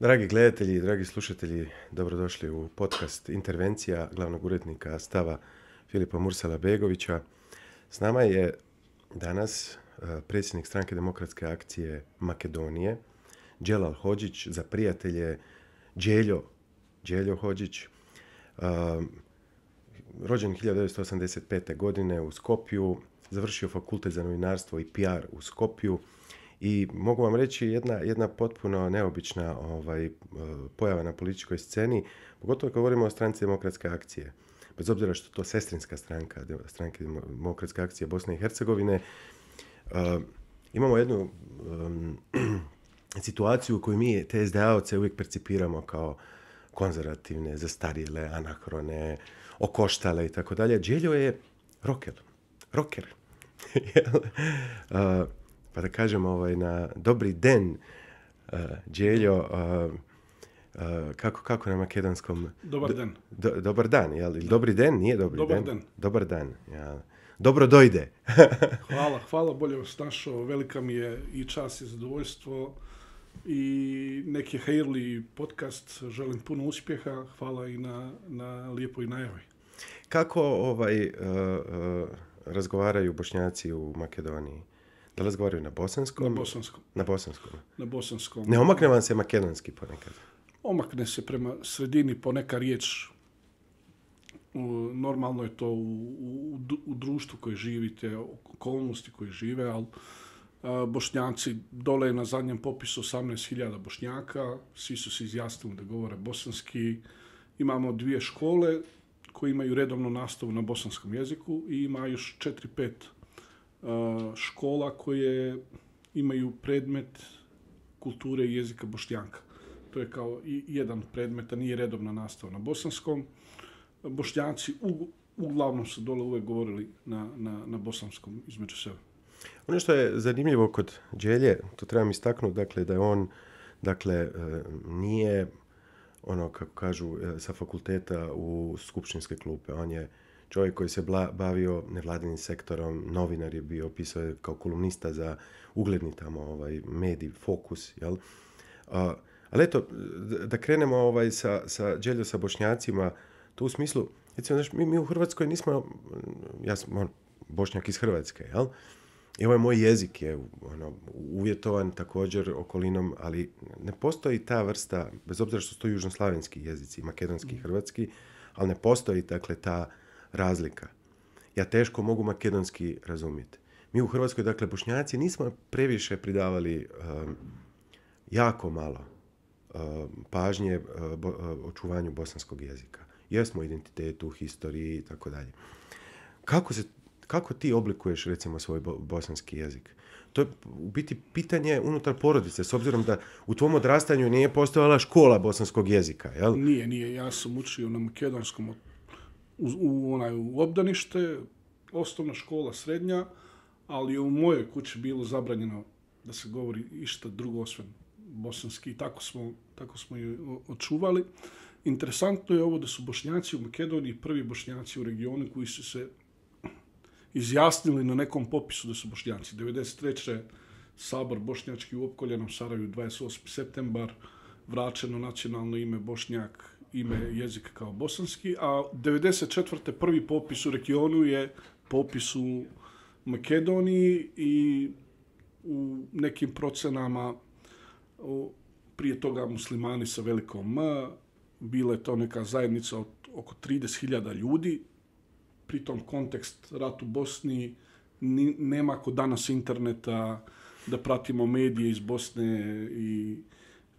Dragi gledatelji, dragi slušatelji, dobrodošli u podcast Intervencija glavnog urednika Stava Filipa Mursala-Begovića. S nama je danas predsjednik Stranke demokratske akcije Makedonije, Dželal Hodžić, za prijatelje Đeljo Hodžić, rođen 1985. godine u Skopju, završio fakultet za novinarstvo i PR u Skopju. I mogu vam reći jedna potpuno neobična pojava na političkoj sceni, pogotovo kad govorimo o Stranci demokratske akcije. Bez obzira što to sestrinska stranke demokratske akcije Bosne i Hercegovine, imamo jednu situaciju u kojoj mi te SDA-ovce uvijek percipiramo kao konzervativne, zastarjele, anahrone, okoštale i tako dalje. Đeljo je rocker. Pa da kažem na dobri den, Đeljo, kako na makedonskom? Dobar dan. Dobar dan, jel? Dobri den, nije dobri Dobar den? Dan. Dobar dan, jel? Dobro dojde. Hvala, bolje vas našao. Velika mi je i čast i zadovoljstvo i neki hejrli podcast. Želim puno uspjeha. Hvala i na lijepoj najavi. Kako razgovaraju Bošnjaci u Makedoniji? Da li razgovaraju na bosanskom? Na bosanskom. Ne omakne vam se makedonski ponekad? Omakne se prema sredini poneka riječ. Normalno je to u društvu koje živite, okolnosti koje žive, ali Bošnjaci, dole na zadnjem popisu 18.000 Bošnjaka, svi su se izjasnili da govore bosanski. Imamo 2 škole koje imaju redovnu nastavu na bosanskom jeziku i ima još 4-5 škola koje imaju predmet kulture i jezika Bošnjaka. To je kao i jedan predmet, a nije redovna nastava na bosanskom. Bošnjaci uglavnom su dole uvek govorili na bosanskom između sebe. Ono što je zanimljivo kod Đelje, to trebam istaknuti, dakle, da je on nije ono, kako kažu, sa fakulteta u skupštinske klupe. On je čovjek koji se bavio nevladinim sektorom, novinar je bio, pisao je kao kolumnista za ugledni tamo medij, Fokus, jel? Ali eto, da krenemo sa sa Bošnjacima, to u smislu, recimo, mi u Hrvatskoj nismo, ja sam Bošnjak iz Hrvatske, jel? I ovaj moj jezik je uvjetovan također okolinom, ali ne postoji ta vrsta, bez obzira što su to južnoslavenski jezici, makedonski i hrvatski, ali ne postoji, dakle, ta razlika. Ja teško mogu makedonski razumjeti. Mi u Hrvatskoj, dakle, Bošnjaci, nismo previše pridavali jako malo pažnje očuvanju bosanskog jezika. Jesmo identitetu, historiji i tako dalje. Kako ti oblikuješ, recimo, svoj bosanski jezik? To je u biti pitanje unutar porodice, s obzirom da u tvom odrastanju nije postojala škola bosanskog jezika, jel? Nije. Ja sam učio na makedonskom u obdanište, osnovna škola, srednja, ali je u mojoj kući bilo zabranjeno da se govori išta drugo osim bosanski. Tako smo je očuvali. Interesantno je ovo da su Bošnjaci u Makedoniji prvi Bošnjaci u regionu koji su se izjasnili na nekom popisu da su Bošnjaci. 1993. Sabor bošnjački u opkoljenom Sarajevu, 28. septembar, vraćeno nacionalno ime Bošnjak, ime jezika kao bosanski, a 1994. prvi popis u regionu je popis u Makedoniji i u nekim procenama prije toga muslimani sa velikom M, bila je to neka zajednica od oko 30.000 ljudi. Pritom kontekst rat u Bosni, nema kod danas interneta, da pratimo medije iz Bosne i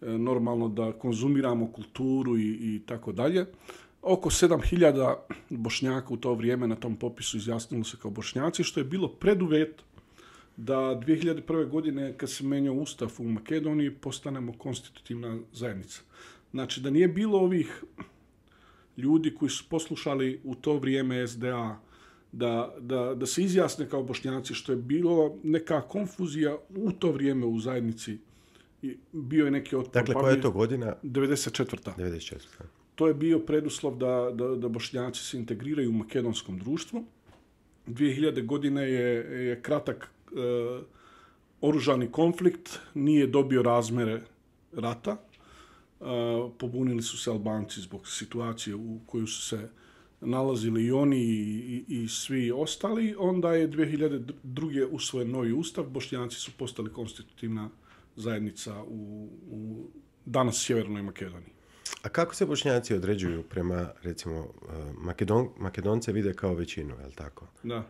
normalno da konzumiramo kulturu i tako dalje. Oko 7.000 Bošnjaka u to vrijeme na tom popisu izjasnilo se kao Bošnjaci, što je bilo preduvjet da 2001. godine, kad se menjao Ustav u Makedoniji, postanemo konstitutivna zajednica. Znači, da nije bilo ovih ljudi koji su poslušali u to vrijeme SDA da se izjasne kao Bošnjaci, što je bilo neka konfuzija u to vrijeme u zajednici. Bio je neki otpor. Dakle, koja je to godina? 94. To je bio preduslov da Bošnjaci se integriraju u makedonskom društvu. 2000 godine je kratak oružani konflikt, nije dobio razmere rata. pobunili su se Albanci zbog situacije u kojoj su se nalazili i oni i svi ostali. Onda je 2002. usvojen novi ustav, Bošnjaci su postali konstitutivna zajednica u danas Sjevernoj Makedoniji. A kako se Bošnjaci određuju prema, recimo, Makedonce vide kao većinu, je li tako? Da.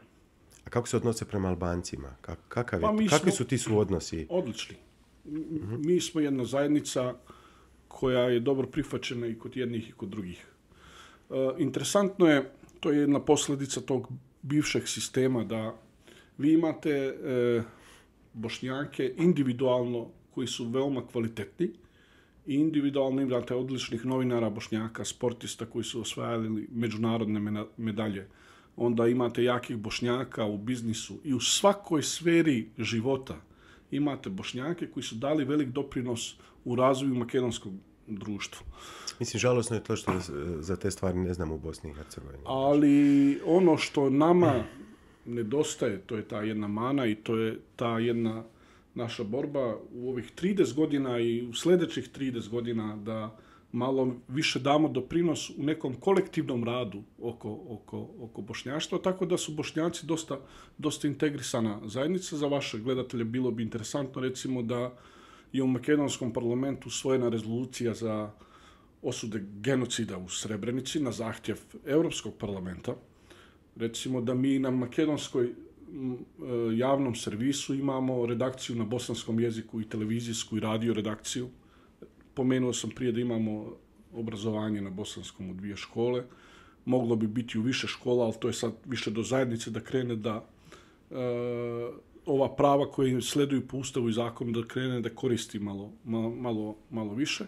A kako se odnose prema Albancima? Kakvi su ti suodnosi? Odlični. Mi smo jedna zajednica koja je dobro prihvaćena i kod jednih i kod drugih. Interesantno je, to je jedna posljedica tog bivšeg sistema, da vi imate Bošnjake individualno koji su veoma kvalitetni i individualno imate odličnih novinara Bošnjaka, sportista koji su osvajali međunarodne medalje. Onda imate jakih Bošnjaka u biznisu i u svakoj sferi života imate Bošnjake koji su dali velik doprinos u razvoju makedonskog društva. Mislim, žalosno je to što za te stvari ne znam u Bosni i Hercegovini. Ali ono što nama nedostaje, to je ta jedna mana i to je ta jedna naša borba u ovih 30 godina i u sljedećih 30 godina da malo više damo doprinos u nekom kolektivnom radu oko bošnjaštva, tako da su Bošnjaci dosta integrisana zajednica. Za vaše gledatelje bilo bi interesantno recimo da je u makedonskom parlamentu usvojena rezolucija za osude genocida u Srebrenici na zahtjev Europskog parlamenta. Recimo da mi na makedonskoj javnom servisu imamo redakciju na bosanskom jeziku i televizijsku i radio redakciju. Pomenuo sam prije da imamo obrazovanje na bosanskom u 2 škole. Moglo bi biti u više škola, ali to je sad više do zajednice da krene da ova prava koje sleduju po Ustavu i zakonu da krene da koristi malo više.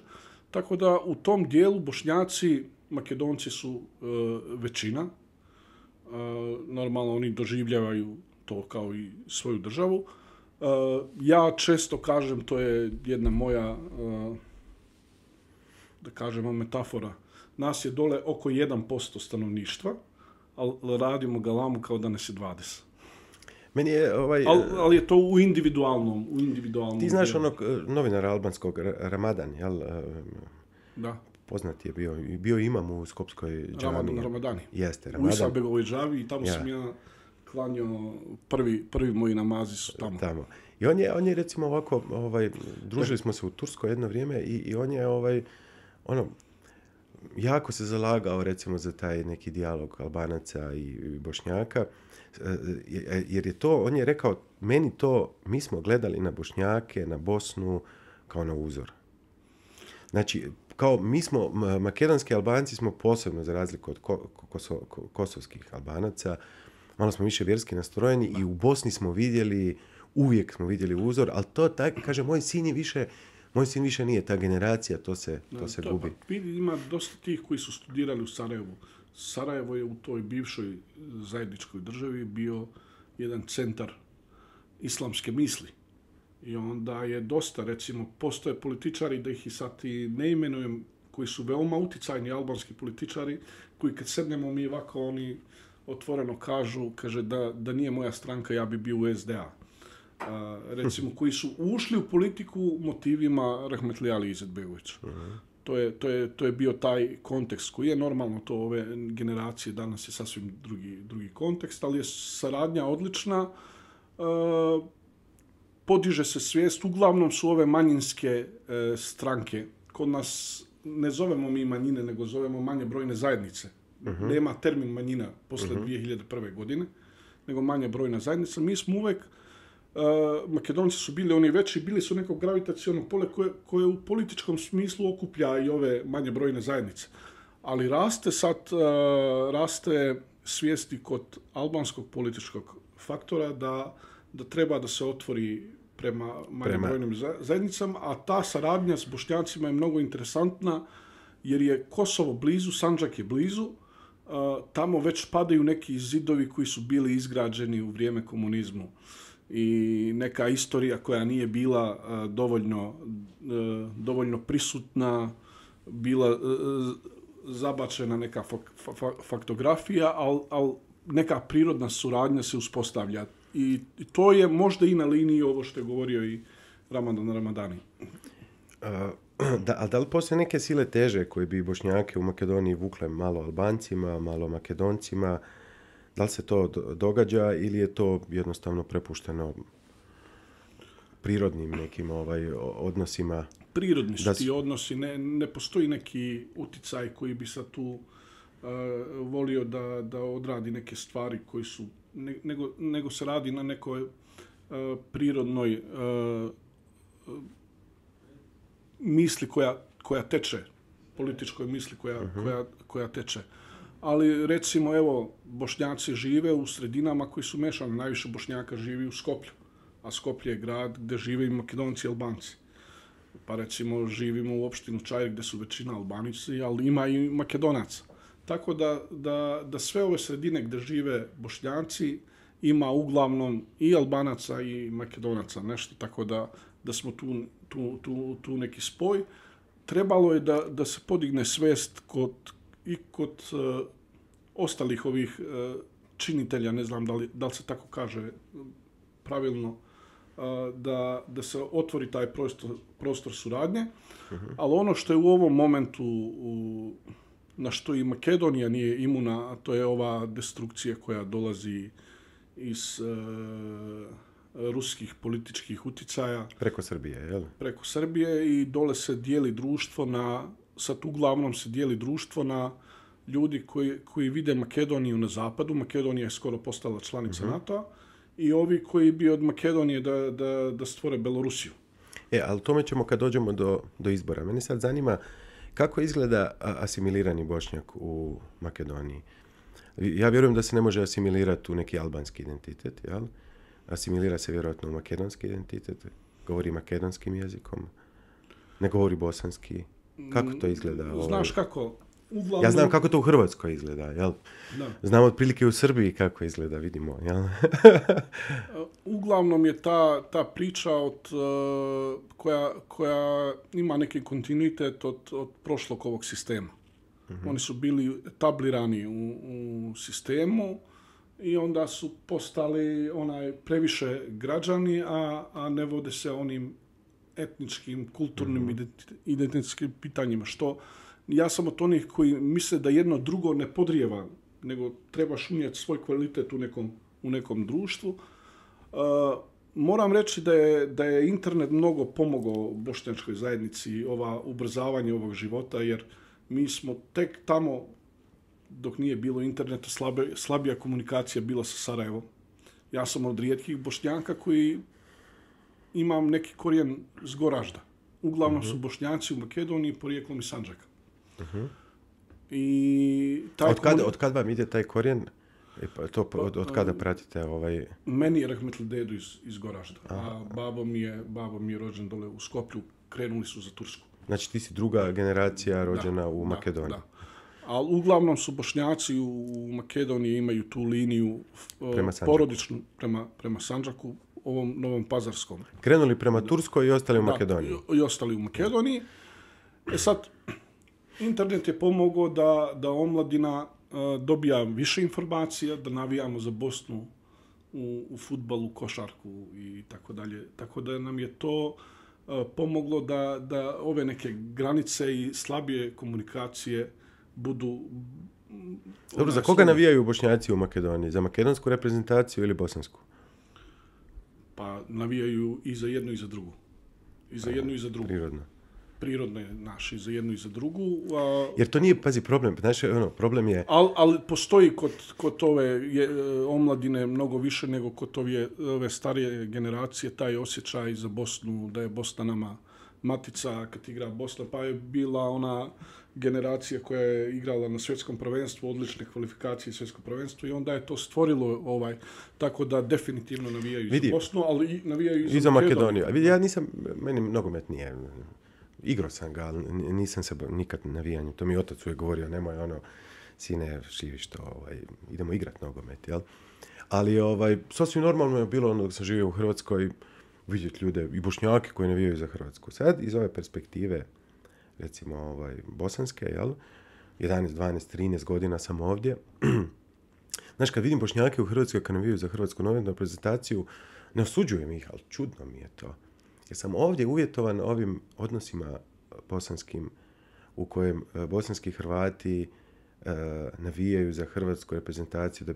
Tako da u tom dijelu Bošnjaci, Makedonci su većina. Normalno oni doživljavaju to kao i svoju državu. Ja često kažem, to je jedna moja, da kažemo, metafora. Nas je dole oko 1% stanovništva, ali radimo galamu kao da nas je 20. Meni je ali je to u individualnom Ti znaš onog novinara albanskog Ramadan, jel? Da. Poznat je bio imam u Skopskoj džami. Ramadani. Jeste, Ramadan. U Isabegovoj džavi i tamo sam ja klanjao prvi moji namazi su tamo. I on je recimo ovako, družili smo se u Turskoj jedno vrijeme i on je jako se zalagao recimo za taj neki dijalog Albanaca i Bošnjaka, jer je to, on je rekao, mi smo gledali na Bošnjake, na Bosnu kao na uzor. Znači, kao mi smo, makedonski Albanci smo posebno, za razliku od kosovskih Albanaca, malo smo više vjerski nastrojeni i u Bosni smo uvijek smo vidjeli uzor, ali to, kaže, moj sin više nije ta generacija, to se gubi. Ima dosta tih koji su studirali u Sarajevu. Sarajevo je u toj bivšoj zajedničkoj državi bio jedan centar islamske misli. I onda je dosta, recimo, postoje političari, da ih i sad i ne imenujem, koji su veoma uticajni albanski političari, koji kad sednemo mi ovako, oni otvoreno kaže da nije moja stranka, ja bi bio u SDA. Recimo, koji su ušli u politiku motivima Rahmetli Ali Izetbegovića. To je bio taj kontekst koji je normalno, to ove generacije danas je sasvim drugi kontekst, ali je saradnja odlična. Podiže se svijest, uglavnom su ove manjinske stranke. Kod nas ne zovemo mi manjine, nego zovemo manje brojne zajednice. Nema termin manjina posle 2001. godine, nego manje brojna zajednica. Mi smo uvek, Makedonci su bili oni veći, bili su neko gravitaciono pole koje u političkom smislu okuplja i ove manje brojne zajednice. Ali raste svijesti kod albanskog političkog faktora da treba da se otvori prema manje brojnim zajednicama, a ta saradnja s Bošnjacima je mnogo interesantna, jer je Kosovo blizu, Sandžak je blizu, tamo već padaju neki zidovi koji su bili izgrađeni u vrijeme komunizmu i neka istorija koja nije bila dovoljno prisutna, bila zabačena neka faktografija, ali neka prirodna suradnja se uspostavlja. I to je možda i na liniji ovo što je govorio i Ramadan Ramadani. da li postoje neke sile teže koje bi Bošnjake u Makedoniji vukle malo Albancima, malo Makedoncima? Da li se to događa ili je to jednostavno prepušteno prirodnim nekim odnosima? Prirodni su ti odnosi, ne postoji neki uticaj koji bi sad tu volio da odradi neke stvari koji su, nego se radi na nekoj prirodnoj misli koja teče, političkoj misli koja teče. Ali recimo, evo, Bošnjaci žive u sredinama koji su mešani. Najviše Bošnjaka živi u Skoplju, a Skoplje je grad gdje žive i Makedonci i Albanci. Pa recimo živimo u opštinu Čair gdje su većina Albanici, ali ima i Makedonaca. Tako da sve ove sredine gdje žive Bošnjaci ima uglavnom i Albanaca i Makedonaca nešto, tako da smo tu neki spoj. Trebalo je da se podigne svest kod ostalih ovih činitelja, ne znam da li se tako kaže pravilno, da se otvori taj prostor suradnje, ali ono što je u ovom momentu na što i Makedonija nije imuna, a to je ova destrukcija koja dolazi iz ruskih političkih uticaja. Preko Srbije, jel? Preko Srbije i dole se dijeli društvo sad uglavnom se dijeli društvo na ljudi koji vide Makedoniju na zapadu. Makedonija je skoro postala članica NATO-a i ovi koji bi od Makedonije da stvore Belorusiju. Ali tome ćemo kad dođemo do izbora. Mene sad zanima kako izgleda asimilirani Bošnjak u Makedoniji. Ja vjerujem da se ne može asimilirati u neki albanski identitet, jel? Asimilira se vjerojatno u makedonski identitet, govori makedonskim jezikom, ne govori bosanski. Kako to izgleda? Znaš kako? Uglavnom... Ja znam kako to u Hrvatskoj izgleda, jel? Da. Znam otprilike u Srbiji kako izgleda, vidimo, jel? Uglavnom je ta priča koja ima neki kontinuitet od prošlog ovog sistema. Oni su bili etablirani u sistemu i onda su postali previše građani, a ne vode se onim etničkim, kulturnim, identitetskim pitanjima. Što ja sam od onih koji misle da jedno drugo ne podrijeva, nego trebaš unijeti svoj kvalitet u nekom društvu. Moram reći da je internet mnogo pomogao bošnjačkoj zajednici, ubrzavanje ovog života, jer mi smo tek tamo, dok nije bilo interneta, slabija komunikacija bila sa Sarajevom. Ja sam od rijetkih Bošnjaka koji imam neki korijen s Goražda. Uglavnom su Bošnjaci u Makedoniji porijeklom iz Sandžaka. I od kad vam ide taj korijen? Od kada pratite Meni je rahmetli dedu iz Goražda, a babo mi je rođen dole u Skoplju, krenuli su za Tursku. Znači ti si druga generacija rođena u Makedoniji. Da. Ali uglavnom su Bošnjaci u Makedoniji imaju tu liniju porodičnu prema Sandžaku, ovom Novom Pazarskom. Krenuli prema Turskoj i ostali u Makedoniji. I ostali u Makedoniji. Sad, internet je pomogao da omladina dobija više informacija, da navijamo za Bosnu u fudbalu, košarku i tako dalje. Tako da nam je to pomoglo da ove neke granice i slabije komunikacije budu... Dobro, za koga navijaju Bošnjaci u Makedoniji? Za makedonsku reprezentaciju ili bosansku? Pa navijaju i za jednu i za drugu. I za jednu i za drugu. Prirodno je naš i za jednu i za drugu. Jer to nije, pazi, problem. Znaš, problem je... Ali postoji kod ove omladine mnogo više nego kod ove starije generacije taj osjećaj za Bosnu, da je Bosna nama matica kad igra Bosna, pa je bila ona generacija koja je igrala na svjetskom prvenstvu, odlične kvalifikacije svjetsko prvenstvo i onda je to stvorilo tako da definitivno navijaju za Bosnu, ali navijaju i za Makedoniju. Ja nisam, meni nogomet nije, igrao sam ga, ali nisam se nikad navijanju. To mi otac uvijek govorio, nemoj sine, živiš to, idemo igrat nogomet, jel? Ali sasvim normalno je bilo dok sam živio u Hrvatskoj vidjeti ljude i Bošnjake koji navijaju za Hrvatsku. Sad iz ove perspektive, recimo bosanske, jel? 11, 12, 13 godina sam ovdje. Znaš, kad vidim Bošnjake u Hrvatskoj kad navijaju za Hrvatsku novinarnu prezentaciju, ne osuđujem ih, ali čudno mi je to. Jer sam ovdje uvjetovan ovim odnosima bosanskim, u kojem bosanski Hrvati navijaju za hrvatsku reprezentaciju da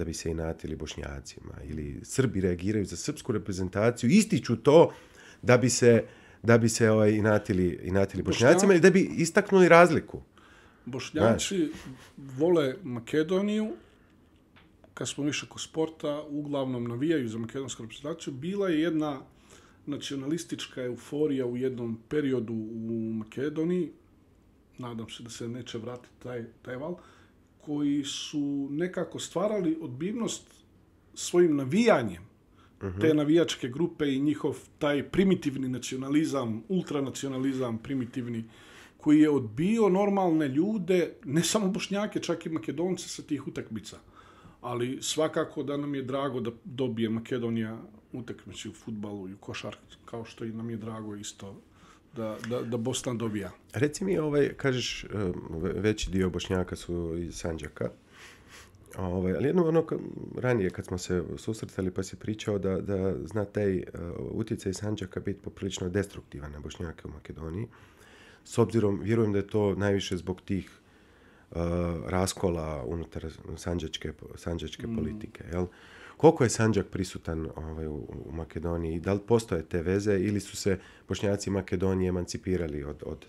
bi se inatili Bošnjacima, ili Srbi reagiraju za srpsku reprezentaciju, ističu to da bi se inatili Bošnjacima ili da bi istaknuli razliku. Bošnjaci vole Makedoniju, kad smo više kod sporta, uglavnom navijaju za makedonsku reprezentaciju. Bila je jedna nacionalistička euforija u jednom periodu u Makedoniji, nadam se da se neće vratiti taj val, koji su nekako stvarali odbivnost svojim navijanjem te navijačke grupe i njihov taj primitivni nacionalizam, ultranacionalizam primitivni, koji je odbio normalne ljude, ne samo Bošnjake, čak i Makedonce sa tih utakmica. Ali svakako da nam je drago da dobije Makedonija utakmice u fudbalu i u košarku, kao što i nam je drago isto da Bosna dobija. Reci mi, kažeš, veći dio Bošnjaka su iz Sandžaka, ali jedno ranije kad smo se susretali pa si pričao da zna taj utjecaj Sandžaka biti poprilično destruktivan na Bošnjake u Makedoniji. S obzirom, vjerujem da je to najviše zbog tih raskola unutar sandžačke politike. Jel? Koliko je Sandžak prisutan u Makedoniji? Da li postoje te veze ili su se Bošnjaci Makedonije emancipirali od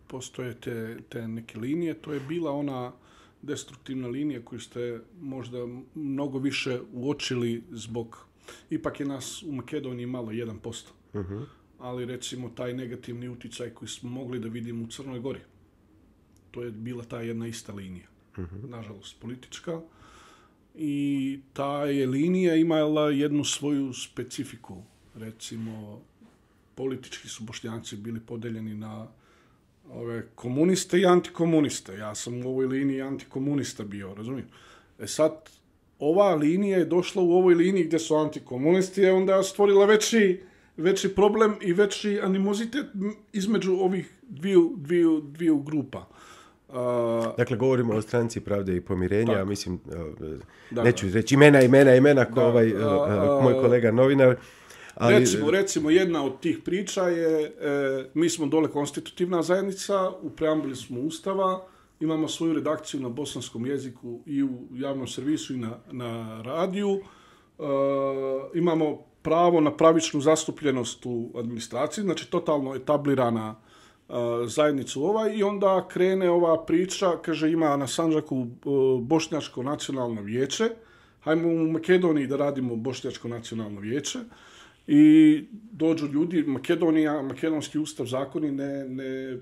Postoje te neke linije. To je bila ona destruktivna linija koju ste možda mnogo više uočili zbog... Ipak je nas u Makedoniji malo 1%. Uh-huh. Ali recimo taj negativni utjecaj koji smo mogli da vidimo u Crnoj Gori. To je bila ta jedna ista linija. Uh-huh. Nažalost, politička. I ta je linija imala jednu svoju specifiku. Recimo, politički su Bošnjaci bili podeljeni na ove komuniste i antikomuniste. Ja sam u ovoj liniji antikomunista bio, razumijem. Sad, ova linija je došla u ovoj liniji gdje su antikomunisti, je onda stvorila veći problem i veći animozitet između ovih dviju grupa. Dakle, govorimo o Stranci pravde i pomirenja, ja mislim, neću reći imena ko moj kolega novinar. Ali... Recimo, jedna od tih priča je, mi smo dole konstitutivna zajednica, u preambuli smo Ustava, imamo svoju redakciju na bosanskom jeziku i u javnom servisu i na radiju, imamo pravo na pravičnu zastupljenost u administraciji, znači totalno etablirana zajednica i onda krene ova priča, kaže ima na Sandžaku Bošnjačko nacionalno vijeće, hajmo u Makedoniji da radimo Bošnjačko nacionalno vijeće i dođu ljudi, makedonski ustav, zakoni ne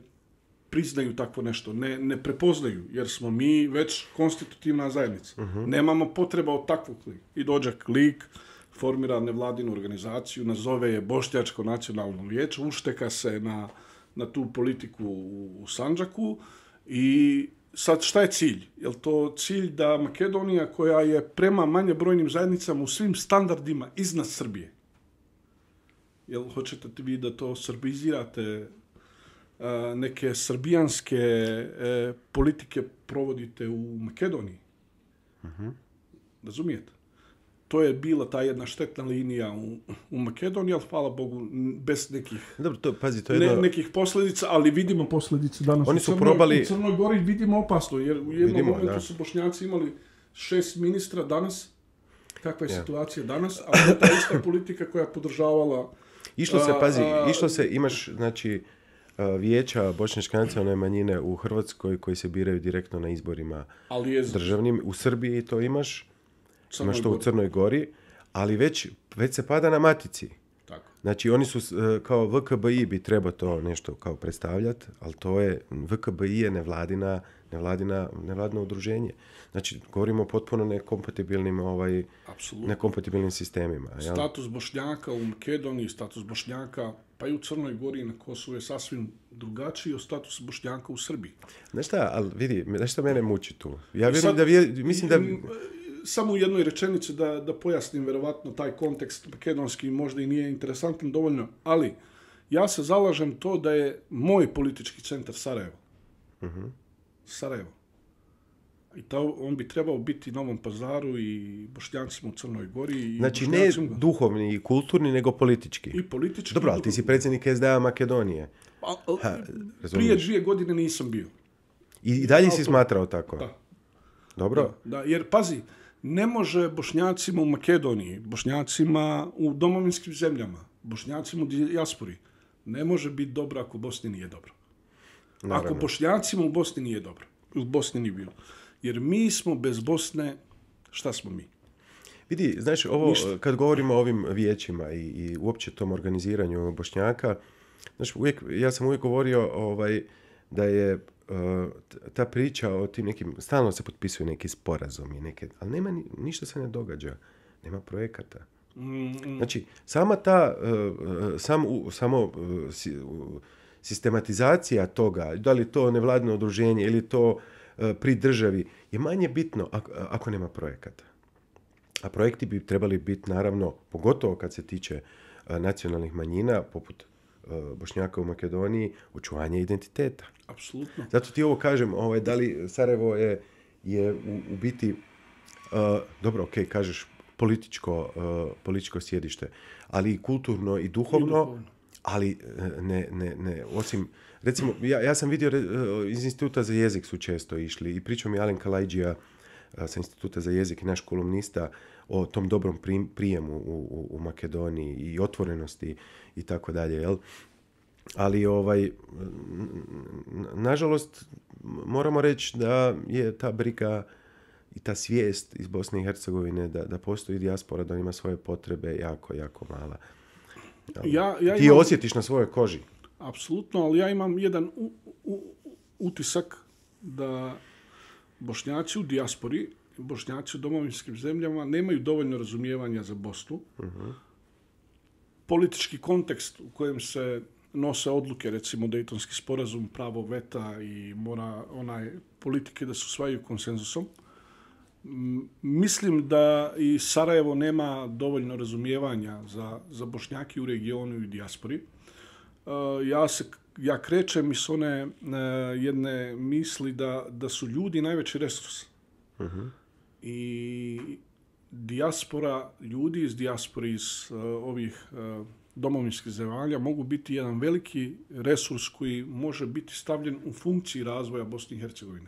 priznaju takvo nešto, ne prepoznaju, jer smo mi već konstitutivna zajednica. Uh-huh. Nemamo potreba od takvog lika. I dođe lik, formira nevladinu organizaciju, nazove je Bošnjačko nacionalno vijeće, ušteka se na tu politiku u Sandžaku i sad šta je cilj? Je li to cilj da Makedonija, koja je prema manje brojnim zajednicama u svim standardima iznad Srbije, jel hoćete vi da to srbizirate, neke srbijanske politike provodite u Makedoniji? Uh-huh. Razumijete? To je bila ta jedna štetna linija u Makedoniji, ali hvala Bogu, bez nekih, nekih posljedica, ali vidimo posljedice danas. Oni su probali... U Crnoj Gori vidimo opasno, jer u jednom momentu su Bošnjaci imali 6 ministra danas. Kakva je situacija danas? Ali je ta ista politika koja je podržavala... Išlo se, imaš, znači, vijeća bošnjačke nacionalne manjine u Hrvatskoj koji se biraju direktno na izborima državnim. U Srbiji to imaš to u Crnoj Gori, ali već se pada na matici. Tako. Znači, oni su kao VKBI bi trebao to nešto kao predstavljati, ali to je, VKBI je nevladino udruženje. Znači, govorimo o potpuno nekompatibilnim sistemima. Jel? Status Bošnjaka u Makedoniji, status Bošnjaka pa i u Crnoj Gori na Kosovu je sasvim drugačiji od statusa Bošnjaka u Srbiji. Znaš šta, ali vidi, nešto mene muči tu. Ja mislim da... Samo u jednoj rečenici da pojasnim verovatno taj kontekst makedonski možda i nije interesantan dovoljno, ali ja se zalažem to da je moj politički centar Sarajevo. Uh-huh. Sarajevo. I on bi trebao biti Novom Pazaru i Bošnjacima u Crnoj Gori. Znači ne duhovni i kulturni, nego politički. I politički. Dobro, ali ti si predsjednik SDA Makedonije. Prije 2 godine nisam bio. I dalje si smatrao tako? Da. Dobro? Da, jer pazi, ne može Bošnjacima u Makedoniji, Bošnjacima u domovinskim zemljama, Bošnjacima u dijaspori, ne može biti dobro ako Bosni nije dobro. Naravno. Ako Bošnjacima u Bosni nije dobro. U Bosni nije bilo. Jer mi smo bez Bosne, šta smo mi? Vidi, znaš, ovo, kad govorimo o ovim vijećima i uopće tom organiziranju Bošnjaka, znaš, ja sam uvijek govorio da je ta priča o tim nekim, stalno se potpisuju neki sporazumi, ali nema, ništa se ne događa. Nema projekata. Znači, sama ta, sistematizacija toga, da li to nevladino udruženje ili to pri državi, je manje bitno ako nema projekata. A projekti bi trebali biti, naravno, pogotovo kad se tiče nacionalnih manjina, poput Bošnjaka u Makedoniji, očuvanje identiteta. Apsolutno. Zato ti ovo kažem, da li Sarajevo je u biti, dobro, ok, kažeš političko sjedište, ali i kulturno i duhovno, ali ne, osim, recimo, ja sam vidio iz Instituta za jezik su često išli i pričao mi Alen Kalajđija sa Instituta za jezik i naš kolumnista o tom dobrom prijemu u Makedoniji i otvorenosti i tako dalje, jel? Ali nažalost moramo reći da je ta briga i ta svijest iz Bosne i Hercegovine da postoji dijaspora, da ima svoje potrebe jako, jako mala. Ti je osjetiš na svojoj koži. Apsolutno, ali ja imam jedan utisak da Bošnjaci u dijaspori, Bošnjaci u domovinskim zemljama nemaju dovoljno razumijevanja za Bosnu. Uh-huh. Politički kontekst u kojem se nose odluke, recimo Dejtonski sporazum, pravo veta i mora politike da se usvajaju konsenzusom. Mislim da i Sarajevo nema dovoljno razumijevanja za Bošnjaki u regionu i dijaspori. Ja krećem iz one jedne misli da su ljudi najveći resurs. Uh-huh. I dijaspora, ljudi iz dijaspore, iz ovih domovinskih zemalja mogu biti jedan veliki resurs koji može biti stavljen u funkciji razvoja Bosne i Hercegovine.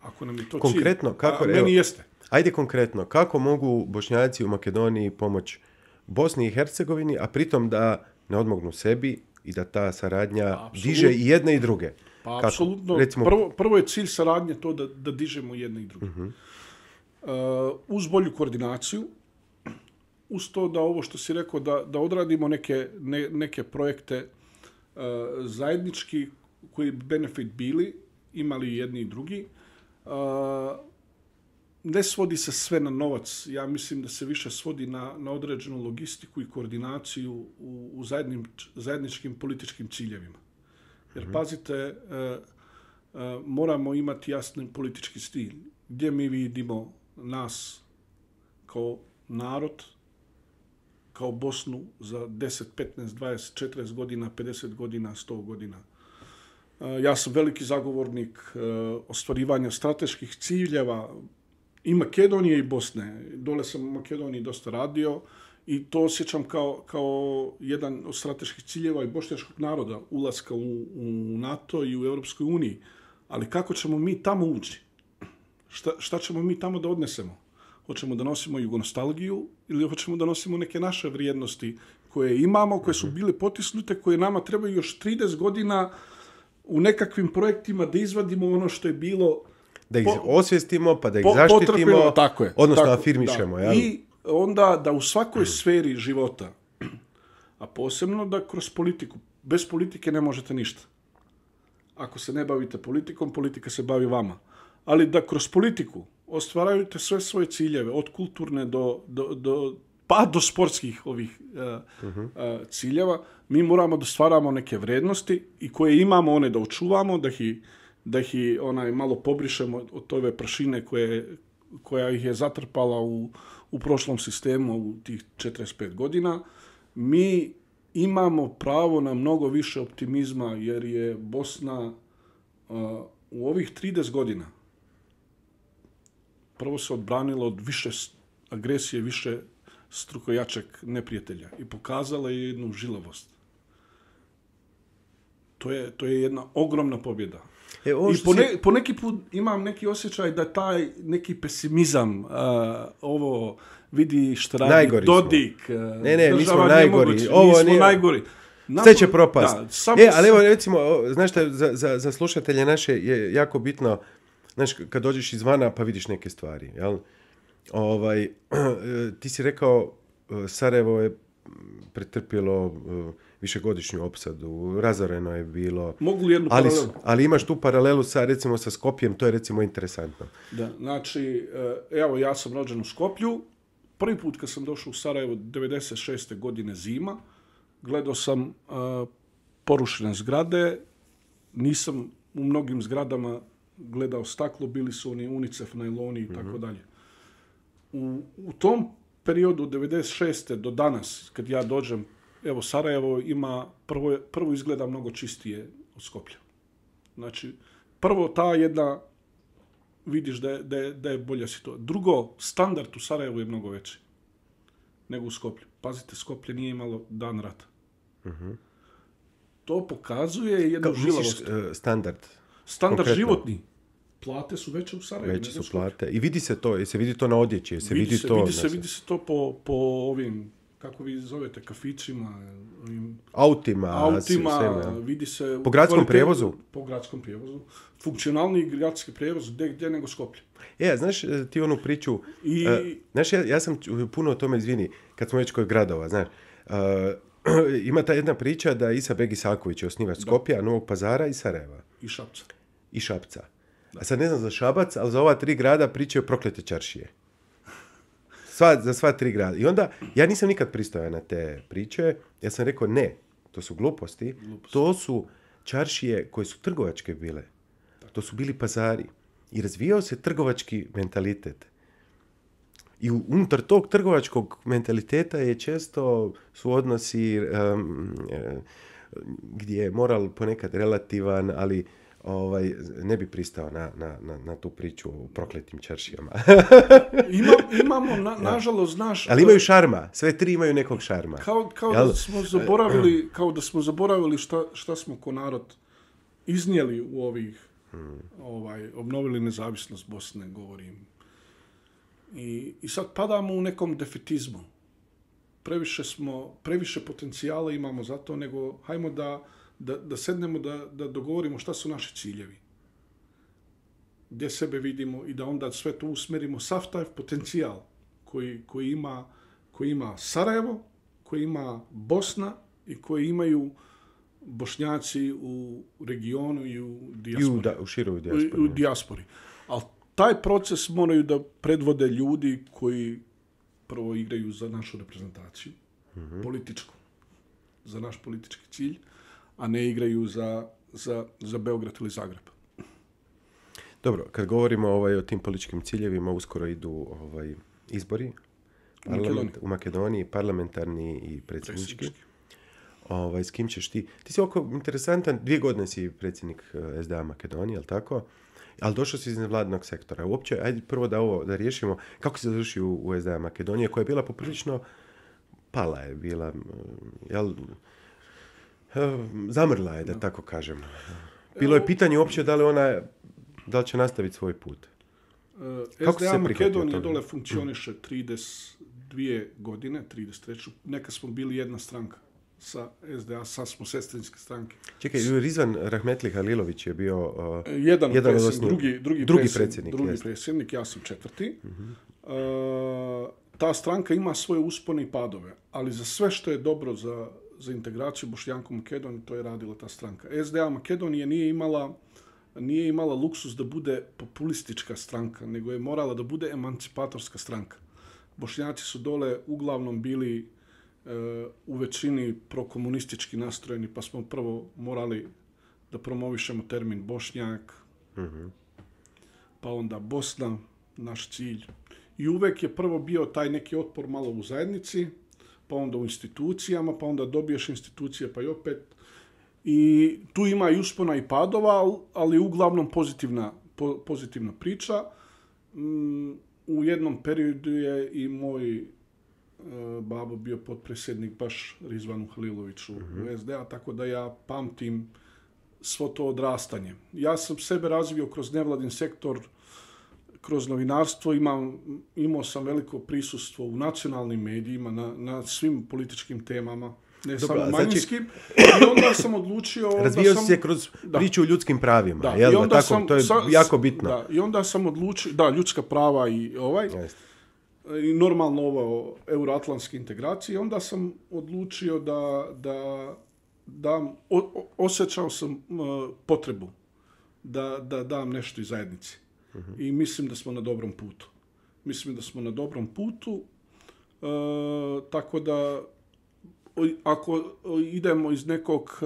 Ako nam je to konkretno, cilj, kako, meni jeste. Ajde konkretno, kako mogu Bošnjaci u Makedoniji pomoći Bosni i Hercegovini, a pritom da ne odmognu sebi i da ta saradnja diže i jedne i druge? Pa apsolutno. Recimo, prvo je cilj saradnje to da dižemo jedne i druge. Uh-huh. Uz bolju koordinaciju, uz to da ovo što si rekao, da odradimo neke projekte zajednički koji bi benefit bili, imali jedni i drugi. Ne svodi se sve na novac. Ja mislim da se više svodi na određenu logistiku i koordinaciju u zajedničkim političkim ciljevima. Jer pazite, moramo imati jasni politički stil. Gdje mi vidimo nas kao narod, kao Bosnu za 10, 15, 20, 40 godina, 50 godina, 100 godina. Ja sam veliki zagovornik ostvarivanja strateških ciljeva i Makedonije i Bosne. Dole sam u Makedoniji dosta radio i to osjećam kao jedan od strateških ciljeva i bošnjačkog naroda, ulaska u NATO i u Europskoj uniji. Ali kako ćemo mi tamo ući? Šta ćemo mi tamo da odnesemo? Hoćemo da nosimo jugonostalgiju ili hoćemo da nosimo neke naše vrijednosti koje imamo, koje su bile potisnute, koje nama trebaju još 30 godina u nekakvim projektima da izvadimo ono što je bilo... Da ih osvijestimo, pa da ih zaštitimo, odnosno afirmišemo. Da. I onda da u svakoj sferi života, a posebno da kroz politiku, bez politike ne možete ništa. Ako se ne bavite politikom, politika se bavi vama. Ali da kroz politiku ostvarujete sve svoje ciljeve, od kulturne do sportskih ovih ciljeva, mi moramo da stvaramo neke vrednosti i koje imamo, one da očuvamo, da ih malo pobrišemo od tove prašine koja ih je zatrpala u prošlom sistemu u tih 45 godina. Mi imamo pravo na mnogo više optimizma jer je Bosna u ovih 30 godina prvo se odbranila od više agresije, više strukojačeg neprijatelja i pokazala je jednu žilavost. To je jedna ogromna pobjeda. I po neki put imam neki osjećaj da taj neki pesimizam, ovo vidi što radi najgori Dodik, mi smo najgori. Mi smo najgori. Sve će propast. Ali evo recimo, znaš šta, za slušatelje naše je jako bitno, znaš, kad dođeš izvana pa vidiš neke stvari, jel? Ti si rekao, Sarajevo je pretrpjelo višegodišnju opsadu, razoreno je bilo. Mogu li jednu paralelu? Ali imaš tu paralelu recimo sa Skopjem, to je recimo interesantno. Da, znači, evo ja sam rođen u Skoplju. Prvi put kad sam došao u Sarajevo 96. godine zima, gledao sam porušene zgrade, nisam u mnogim zgradama gledao staklo, bili su oni UNICEF, najloni i tako dalje. U tom periodu od 96. do danas, kad ja dođem, evo Sarajevo ima, prvo izgleda mnogo čistije od Skoplja. Znači, prvo ta jedna, vidiš da je bolja situacija. Drugo, standard u Sarajevu je mnogo veći nego u Skoplju. Pazite, Skoplje nije imalo dan rata. To pokazuje jednu žilavost. Standard konkretno. Životni. Plate su veće u Sarajevu. Veće su plate. I vidi se to, se vidi to na odjeći, vidi se to po ovim, kako vi zovete, kafićima, autima, vidi se po gradskom prijevozu. Po gradskom prijevozu. Funkcionalni gradski prijevoz gdje nego Skoplje. Znaš ti onu priču, znaš, ja sam puno o tome, izvini, kad smo već kod gradova, znaš, ima ta jedna priča da Isa Beg Isaković je osnivač Skopja, Novog Pazara i Sarajeva. I Šapca. A sad ne znam za Šabac, ali za ova 3 grada pričaju proklete čaršije. Za sva 3 grada. I onda, ja nisam nikad pristojao na te priče, ja sam rekao ne, to su gluposti. To su čaršije koje su trgovačke bile. To su bili pazari. I razvijao se trgovački mentalitet. I unutar tog trgovačkog mentaliteta je često su odnosi gdje je moral ponekad relativan, ali ne bi pristao na tu priču o prokletim čaršijama. Imamo, nažalost, znaš... Ali imaju šarma, sve 3 imaju nekog šarma. Kao da smo zaboravili šta smo ko narod iznijeli u ovih, obnovili nezavisnost Bosne, govorim. I sad padamo u nekom defetizmu. Previše potencijala imamo za to, nego hajmo da sednemo, da dogovorimo šta su naši ciljevi. Gdje sebe vidimo i da onda sve to usmerimo, sav taj potencijal koji ima Sarajevo, koji ima Bosna i koji imaju Bošnjaci u regionu i u dijaspori. U široj dijaspori. Ali taj proces moraju da predvode ljudi koji prvo igraju za našu reprezentaciju, političku, za naš politički cilj, a ne igraju za Beograd ili Zagreb. Dobro, kad govorimo o tim političkim ciljevima, uskoro idu izbori u Makedoniji, parlamentarni i predsjednički. S kim ćeš ti? Ti si oko interesantan, 2 godine si predsjednik SDA Makedonije, ali tako? Ali došao si iz nevladinog sektora. Uopće, ajde prvo da riješimo kako si završio u SDA Makedonije, koja je bila poprilično pala je bila, zamrla je, da tako kažem. Bilo je pitanje uopće da li će nastaviti svoj put. SDA Makedonije dole funkcioniše 32 godine, 33. Neka smo bili jedna stranka sa SDA, sad smo sestrinske stranke. Čekaj, Rizvan Rahmetli Halilović je bio jedan drugi predsjednik. Drugi predsjednik, ja sam 4. Ta stranka ima svoje uspone i padove, ali za sve što je dobro za integraciju Bošnjaka u Makedoniji, to je radila ta stranka. SDA Makedonije nije imala luksus da bude populistička stranka, nego je morala da bude emancipatorska stranka. Bošnjaci su dole uglavnom bili u većini prokomunistički nastrojeni, pa smo prvo morali da promovišemo termin Bošnjak, pa onda Bosna, naš cilj. I uvek je prvo bio taj neki otpor malo u zajednici, pa onda u institucijama, pa onda dobiješ institucije, pa i opet. I tu ima i uspona i padova, ali uglavnom pozitivna priča. u jednom periodu je i moj babo bio potpredsjednik baš Rizvanu Haliloviću u SDA, tako da ja pamtim svo to odrastanje. Ja sam sebe razvio kroz nevladin sektor, kroz novinarstvo, imao sam veliko prisustvo u nacionalnim medijima, na svim političkim temama, ne samo manjinskim. I onda sam odlučio... Razvijao si se kroz priču o ljudskim pravima, jel? I onda tako, to je jako bitno. Da, i onda sam odlučio, ljudska prava i i normalno ovo euroatlantske integracije. Onda sam odlučio da osjećao sam potrebu da dam nešto iz zajednici. I mislim da smo na dobrom putu. Tako da ako idemo iz nekog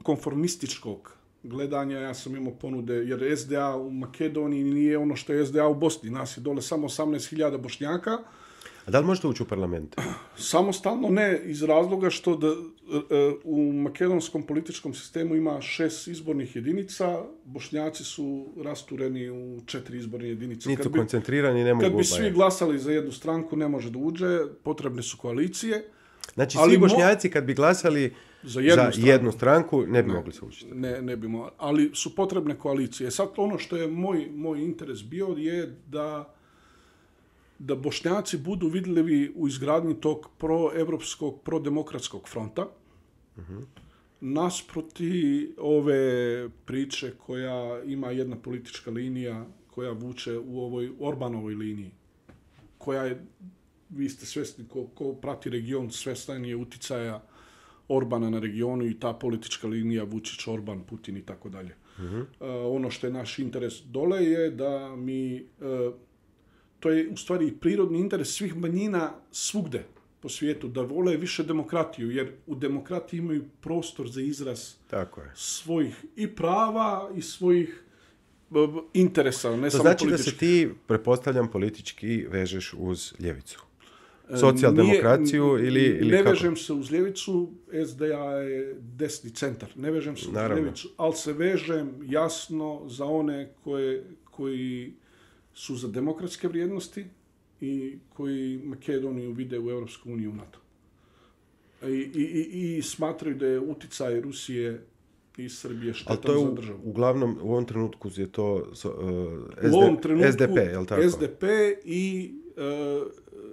konformističkog gledanja, ja sam imao ponude, jer SDA u Makedoniji nije ono što je SDA u Bosni. Nas je dole samo 18.000 Bošnjaka. A da li možete ući u parlament? Samostalno ne, iz razloga što u makedonskom političkom sistemu ima 6 izbornih jedinica, Bošnjaci su rastureni u 4 izborne jedinice. Nisu koncentrirani, ne mogu... Kad bi svi glasali za jednu stranku, ne može da uđe, potrebne su koalicije. Znači, svi Bošnjaci kad bi glasali za jednu stranku, ne bi mogli se učiti. Ne bi mogli, ali su potrebne koalicije. Sad ono što je moj interes bio je da Bošnjaci budu vidljivi u izgradnji tog proevropskog, prodemokratskog fronta, nasproti ove priče koja ima jedna politička linija koja vuče u ovoj Orbanovoj liniji, koja je, vi ste svjesni, ko prati region, svjestan je uticaja Orbana na regionu i ta politička linija Vučić, Orban, Putin i tako dalje. Ono što je naš interes dole je da mi... To je u stvari prirodni interes svih manjina svugde po svijetu, da vole više demokratiju, jer u demokratiji imaju prostor za izraz svojih i prava i svojih interesa, ne samo politički. To znači da se ti, pretpostavljam, politički vežeš uz ljevicu? Socijaldemokraciju ili ne kako? Vežem se uz ljevicu, SDA je desni centar. Ne vežem se uz ljevicu, ali se vežem jasno za one koji su za demokratske vrijednosti i koji Makedoniju vide u Europsku uniju i NATO. I smatraju da je uticaj Rusije i Srbije štetan za državu. Uglavnom, u ovom trenutku je to SDP, je li tako? SDP i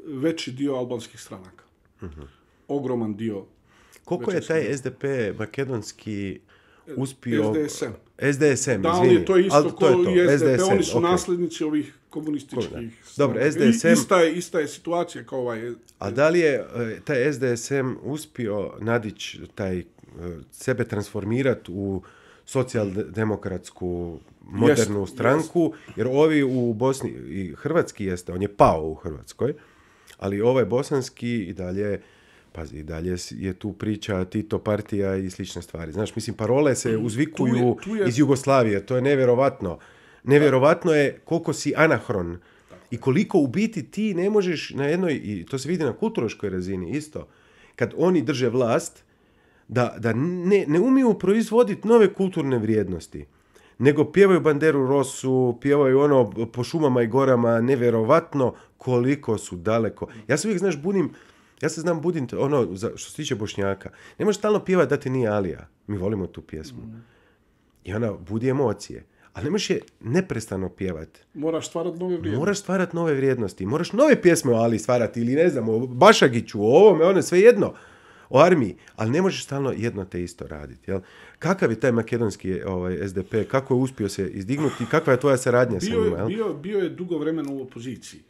veći dio albanskih stranaka. Ogroman dio. Koliko je taj SDP makedonski uspio... SDSM, da, izvini. To je isto kao i SDP, SDSM, oni su nasljednici ovih komunističkih. Dobro, SDSM... Ista je situacija kao ovaj... A da li je taj SDSM uspio nadići sebe transformirati u socijaldemokratsku modernu stranku, jer ovi u Bosni, i hrvatski jeste, on je pao u Hrvatskoj, ali ovaj bosanski i dalje... Pazi, i dalje je tu priča Tito partija i slične stvari. Znaš, mislim, parole se uzvikuju iz Jugoslavije. To je nevjerovatno. Nevjerovatno je koliko si anahron i koliko u biti ti ne možeš na jednoj, i to se vidi na kulturološkoj razini isto, kad oni drže vlast, da ne umiju proizvoditi nove kulturne vrijednosti, nego pjevaju Banderu Rosu, pjevaju ono po šumama i gorama, nevjerovatno koliko su daleko. Ja se uvijek, znaš, ja se znam budim, ono, što se tiče Bošnjaka, ne možeš stalno pjevati da ti nije Alija. Mi volimo tu pjesmu. I ona budi emocije. Ali ne možeš je neprestano pjevati. Moraš stvarati nove vrijednosti. Moraš nove pjesme o Ali stvarati ili ne znam, o Bašagiću, o ovome, sve jedno. O armiji. Ali ne možeš stalno jedno te isto raditi. Jel? Kakav je taj makedonski SDP? Kako je uspio se izdignuti? Kakva je tvoja saradnja sa njima? Bio je dugo vremena u opoziciji.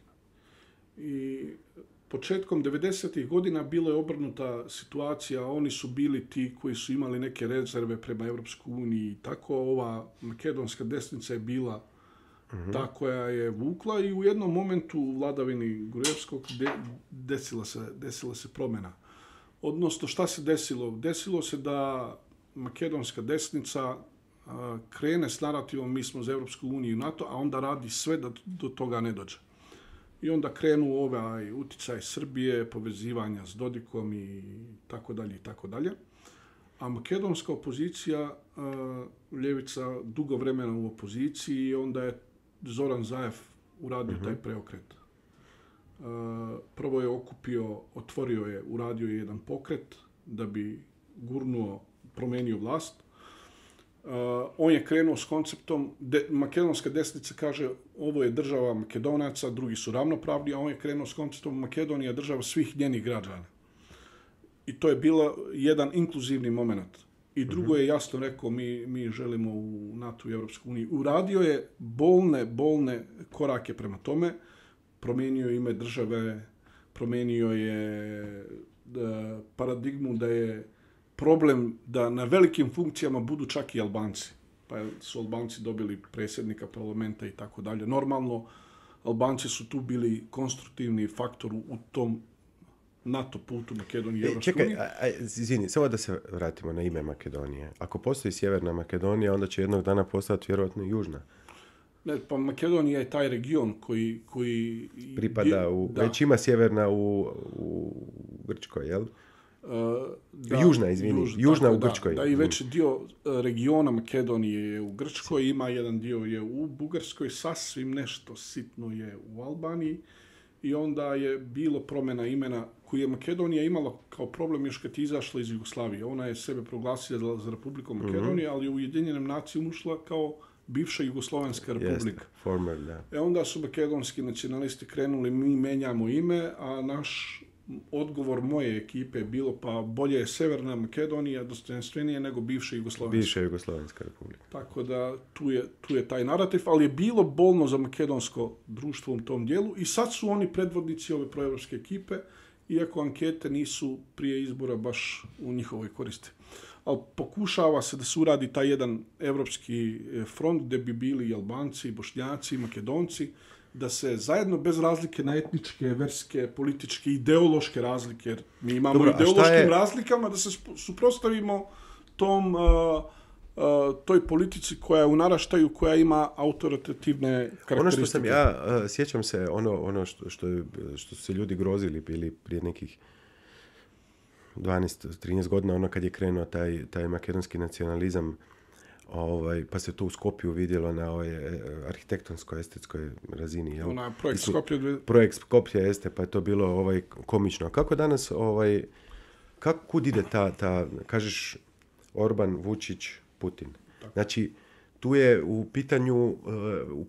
I početkom 90. godina bila je obrnuta situacija. Oni su bili ti koji su imali neke rezerve prema Europskoj uniji i tako. Ova makedonska desnica je bila ta koja je vukla i u jednom momentu u vladavini Gruevskog desila se promjena. Odnosno, šta se desilo? Desilo se da makedonska desnica krene s narativom mi smo za Europsku uniju i NATO, a onda radi sve da do toga ne dođe. I onda krenu ovaj uticaj Srbije, povezivanja s Dodikom i tako dalje i tako dalje. A makedonska opozicija, ljevica, dugo vremena u opoziciji i onda je Zoran Zaev uradio taj preokret. Prvo je otvorio je, uradio je jedan pokret da bi promenio vlast. On je krenuo s konceptom, makedonska desnica kaže ovo je država Makedonaca, drugi su ravnopravni, a on je krenuo s konceptom Makedonija država svih njenih građana. I to je bilo jedan inkluzivni moment. I drugo je jasno rekao, mi želimo u NATO i Europsku uniju. Uradio je bolne korake prema tome, promijenio ime države, promijenio je paradigmu da je problem da na velikim funkcijama budu čak i Albanci. Pa su Albanci dobili predsjednika parlamenta i tako dalje. Normalno, Albanci su tu bili konstruktivni faktor u tom NATO putu Makedonije i Evropske unije. Čekaj, izvini, samo da se vratimo na ime Makedonije. Ako postoji Sjeverna Makedonija, onda će jednog dana postati vjerojatno i Južna. Ne, pa Makedonija je taj region koji pripada već ima Sjeverna u Grčkoj, jel? Južna, izvini. Južna u Grčkoj. Da, i već dio regiona Makedonije je u Grčkoj, ima jedan dio je u Bugarskoj, sasvim nešto sitno je u Albaniji i onda je bilo promjena imena koju je Makedonija imala kao problem još kad je izašla iz Jugoslavije. Ona je sebe proglasila za Republiku Makedoniju, ali u Ujedinjenim nacijama ušla kao bivša Jugoslovenska republika. Former, da. Onda su makedonski nacionalisti krenuli, mi menjamo ime, a naš odgovor moje ekipe je bilo pa bolje je Severna Makedonija dostojanstvenije nego bivša Jugoslovenska. Bivša Jugoslovenska republika. Tako da tu je taj narativ, ali je bilo bolno za makedonsko društvo u tom dijelu i sad su oni predvodnici ove proevropske ekipe, iako ankete nisu prije izbora baš u njihovoj koristi. Ali pokušava se da se uradi taj jedan evropski front gdje bi bili i Albanci, i Bošnjaci, i Makedonci, da se zajedno bez razlike na etničke, verske, političke, ideološke razlike, jer mi imamo ideološkim razlikama, da se suprotstavimo toj politici koja je u naraštaju, koja ima autoritativne karakteristike. Ono što sam ja, sjećam se, ono što su se ljudi grozili bili prije nekih 12-13 godina, ono kad je krenuo taj makedonski nacionalizam, pa se to u Skopju vidjelo na arhitektonskoj, estetskoj razini. Jel? Projekt Skopje. Projekt Skopje jeste, pa je to bilo komično. Kako danas, kud ide ta, kažeš, Orban, Vučić, Putin? Tako. Znači, tu je u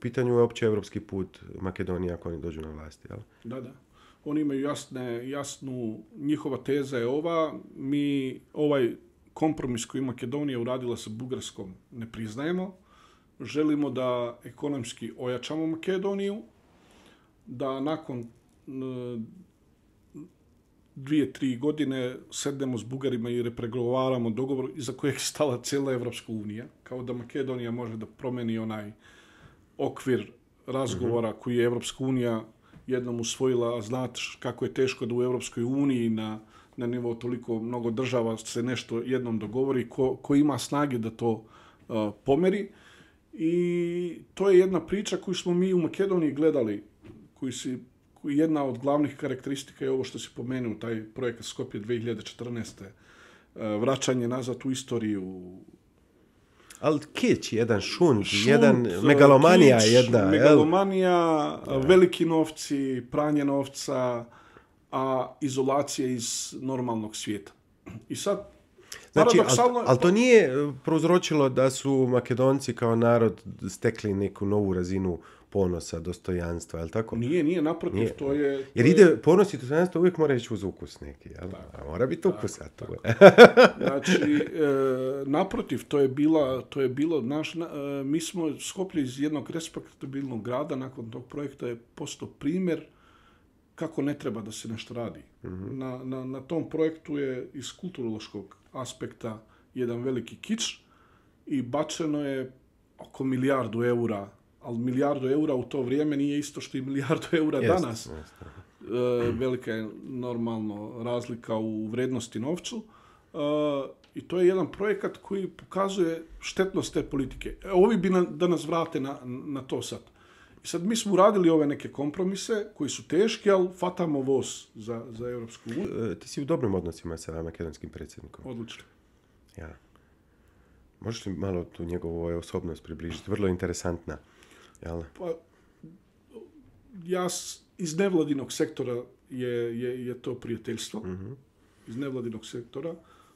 pitanju je opće evropski put Makedonije ako oni dođu na vlast, jel? Da. Oni imaju jasnu, njihova teza je ova, mi ovaj kompromis koji Makedonija uradila sa Bugarskom ne priznajemo. Želimo da ekonomski ojačamo Makedoniju, da nakon 2-3 godine sednemo s Bugarima i repregovaramo dogovor iza kojeg je stala cijela Evropska unija, kao da Makedonija može da promeni onaj okvir razgovora koji je Evropska unija jednom usvojila, a znate kako je teško da u Evropskoj uniji na nivou toliko mnogo država se nešto jednom dogovori, ko ima snage da to pomeri. I to je jedna priča koju smo mi u Makedoniji gledali, koji jedna od glavnih karakteristika je ovo što se pomenuo, taj projekat Skopje 2014. Vraćanje nazad u istoriju. Ali kić, jedan šund, jedan megalomanija kić, jedna. Megalomanija, veliki novci, pranje novca, a izolacija iz normalnog svijeta. I sad, znači, ali to nije prouzročilo da su Makedonci kao narod stekli neku novu razinu ponosa, dostojanstva, je li tako? Nije, naprotiv, nije. To je... Jer ide ponos i dostojanstvo uvijek mora ići uz ukus neki, jel? A mora biti ukus, a to je. Znači, naprotiv, to je bilo mi smo Skoplje iz jednog respektabilnog grada, nakon tog projekta je postao primjer kako ne treba da se nešto radi. Mm-hmm. Na tom projektu je iz kulturološkog aspekta jedan veliki kič i bačeno je oko €1 milijardu, ali €1 milijardu u to vrijeme nije isto što i €1 milijardu danas. Velika je normalno razlika u vrednosti novcu. I to je jedan projekat koji pokazuje štetnost te politike. Ovi bi da nas vrate na to sad. I sad mi smo uradili ove neke kompromise koji su teški, ali fatamo voz za Evropsku uniju. Ti si u dobrim odnosima sa makedonskim predsjednikom. Odlično. Ja. Možeš li malo tu njegovu osobnost približiti? Vrlo interesantna. Jel? Pa, ja iz nevladinog sektora je to prijateljstvo. Iz nevladinog sektora.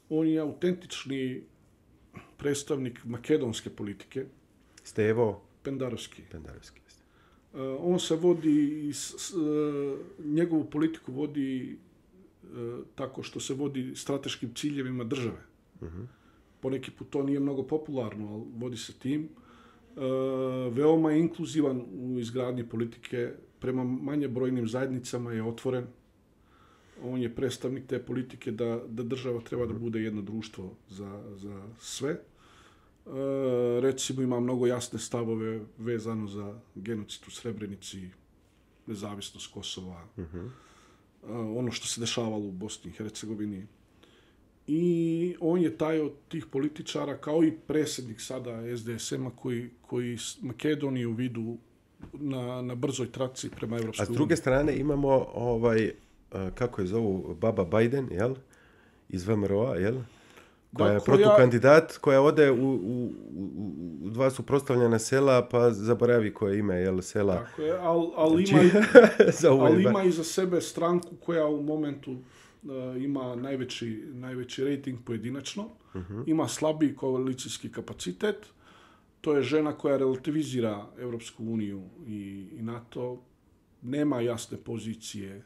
On je autentični predstavnik makedonske politike. Stevo Pendarovski. Pendarovski. On se vodi, njegovu politiku vodi tako što se vodi strateškim ciljevima države. Poneki put to nije mnogo popularno, ali vodi se tim. Veoma je inkluzivan u izgradnji politike, prema manje brojnim zajednicama je otvoren. On je predstavnik te politike da država treba da bude jedno društvo za sve. Recimo ima mnogo jasne stavove vezano za genocid u Srebrenici, nezavisnost Kosova, ono što se dešavalo u Bosni i Hercegovini. I on je taj od tih političara, kao i predsjednik sada SDSM-a, koji Makedoniju vidu na brzoj traci prema Evropskoj uniji. A s druge strane imamo kako je zovu, Baba Bajden, jel? Iz VMRO-a, jel? Koja je protukandidat, koja ode u dva suprotstavljena sela, pa zaboravi koje ime, jel, sela. Tako je, ali ima iza sebe stranku koja u momentu ima najveći rating pojedinačno, ima slabiji koalicijski kapacitet. To je žena koja relativizira Evropsku uniju i NATO, nema jasne pozicije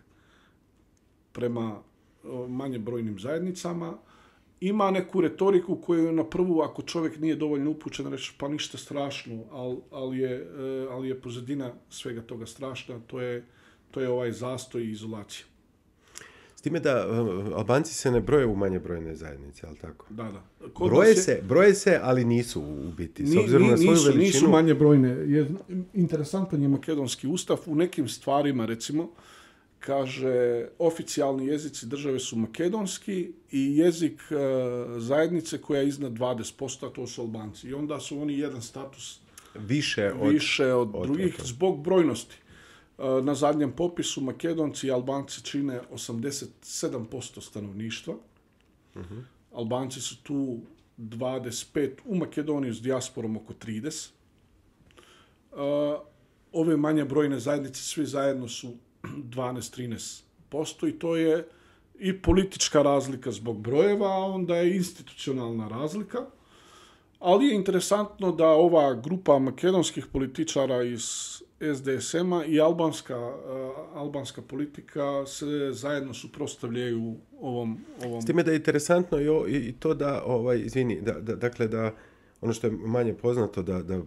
prema manje brojnim zajednicama. Ima neku retoriku koju na prvu, ako čovjek nije dovoljno upućen, reći pa ništa strašno, ali je pozadina svega toga strašna, to je ovaj zastoj i izolacija. S time da Albanci se ne broje u manje brojne zajednice, ali tako? Da. Broje se, ali nisu u biti. S obzirom na svoju veličinu... Nisu manje brojne. Interesantan je makedonski ustav. U nekim stvarima, recimo, kaže, oficijalni jezici države su makedonski i jezik zajednice koja je iznad 20%, a to su Albanci. I onda su oni jedan status više od drugih zbog brojnosti. Na zadnjem popisu Makedonci i Albanci čine 87% stanovništva. Albanci su tu 25, u Makedoniji s dijasporom oko 30. Ove manje brojne zajednice svi zajedno su 12-13% i to je i politička razlika zbog brojeva, a onda je institucionalna razlika. Ali je interesantno da ova grupa makedonskih političara iz SDSM-a i albanska politika se zajedno suprotstavljaju ovom... S time da je interesantno i to da, dakle da ono što je manje poznato, da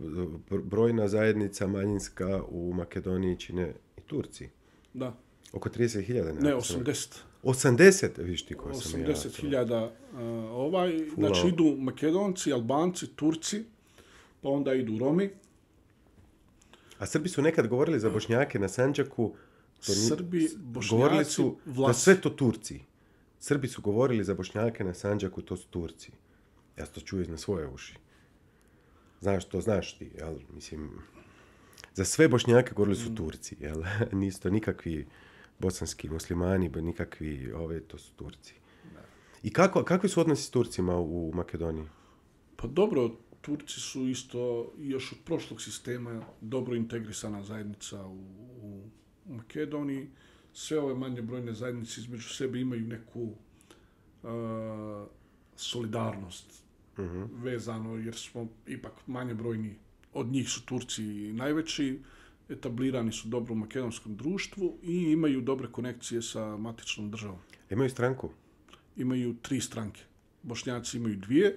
brojna zajednica manjinska u Makedoniji čine i Turci. Da. Oko 30.000. Ne, 80. 80, viš ti ko sam ja. 80.000. Znači idu Makedonci, Albanci, Turci, pa onda idu Romi. A Srbi su nekad govorili za Bošnjake na Sandžaku. Srbi, Bošnjaci, govorili su da sve to Turci. Srbi su govorili za Bošnjake na Sandžaku, to su Turci. Ja to čujem na svoje uši. Znaš ti, jel? Mislim, za sve Bošnjake govorili su Turci, jel? Nisu to nikakvi bosanski muslimani, nikakvi, to su Turci. I kakvi su odnosi s Turcima u Makedoniji? Pa dobro, Turci su isto još od prošlog sistema dobro integrisana zajednica u Makedoniji. Sve ove manje brojne zajednice između sebe imaju neku solidarnost vezano, jer smo ipak manje brojni. Od njih su Turci najveći, etablirani su dobro u makedonskom društvu i imaju dobre konekcije sa matičnom državom. Imaju stranku? Imaju 3 stranke. Bošnjaci imaju 2.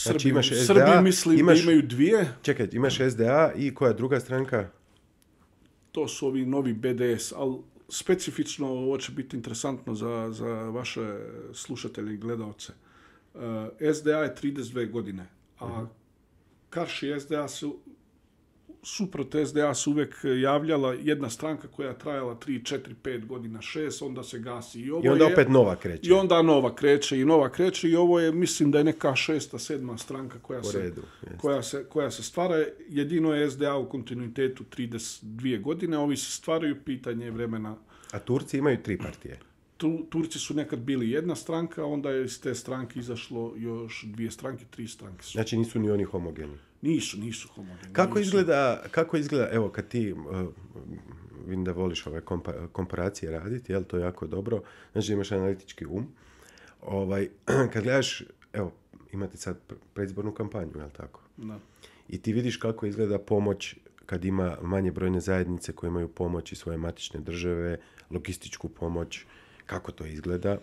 Znači imaš SDA, Srbi mislim da imaju 2. Čekaj, imaš SDA i koja druga stranka? To su ovi novi BDS, ali specifično ovo će biti interesantno za vaše slušatelje i gledalce. SDA je 32 godine, a Karši SDA suprot SDA se uvijek javljala jedna stranka koja je trajala 3, 4, 5 godina, 6, onda se gasi. I onda opet nova kreće. I onda nova kreće i ovo je, mislim da je neka 6., 7. stranka koja se stvara. Jedino je SDA u kontinuitetu 32 godine, ovi se stvaraju, pitanje vremena. A Turci imaju 3 partije? Turci su nekad bili jedna stranka, onda je iz te stranke izašlo još 2 stranke, 3 stranke su. Znači nisu ni oni homogeni? Nisu homogeni. Kako izgleda, evo kad ti vidim da voliš ove komparacije raditi, jel, to je jako dobro. Znači imaš analitički um. Kad gledaš, evo, imate sad predizbornu kampanju, jel tako? Da. I ti vidiš kako izgleda pomoć kad ima manje brojne zajednice koje imaju pomoć iz svoje matične države, logističku pomoć, kako to izgleda.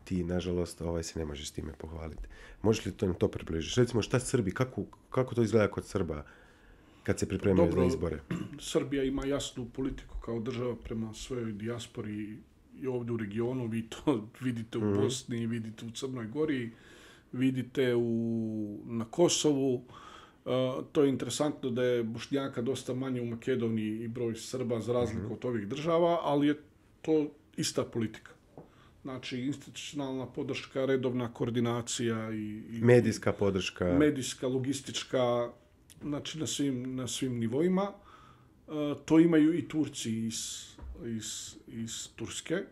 Ti, nažalost, se ne možeš s time pohvaliti. Možeš li to približiti? Recimo, šta Srbi, kako to izgleda kod Srba kad se pripremaju za izbore? Srbija ima jasnu politiku kao država prema svojoj dijaspori i ovdje u regionu. Vi to vidite u Bosni, vidite u Crnoj Gori, vidite na Kosovu. To je interesantno da je Bošnjaka dosta manje u Makedoniji i broj Srba za razliku od ovih država, ali je to ista politika. Znači, institucionalna podrška, redovna koordinacija i medijska podrška. Medijska, logistička, znači na svim nivoima. To imaju i Turci iz Turske.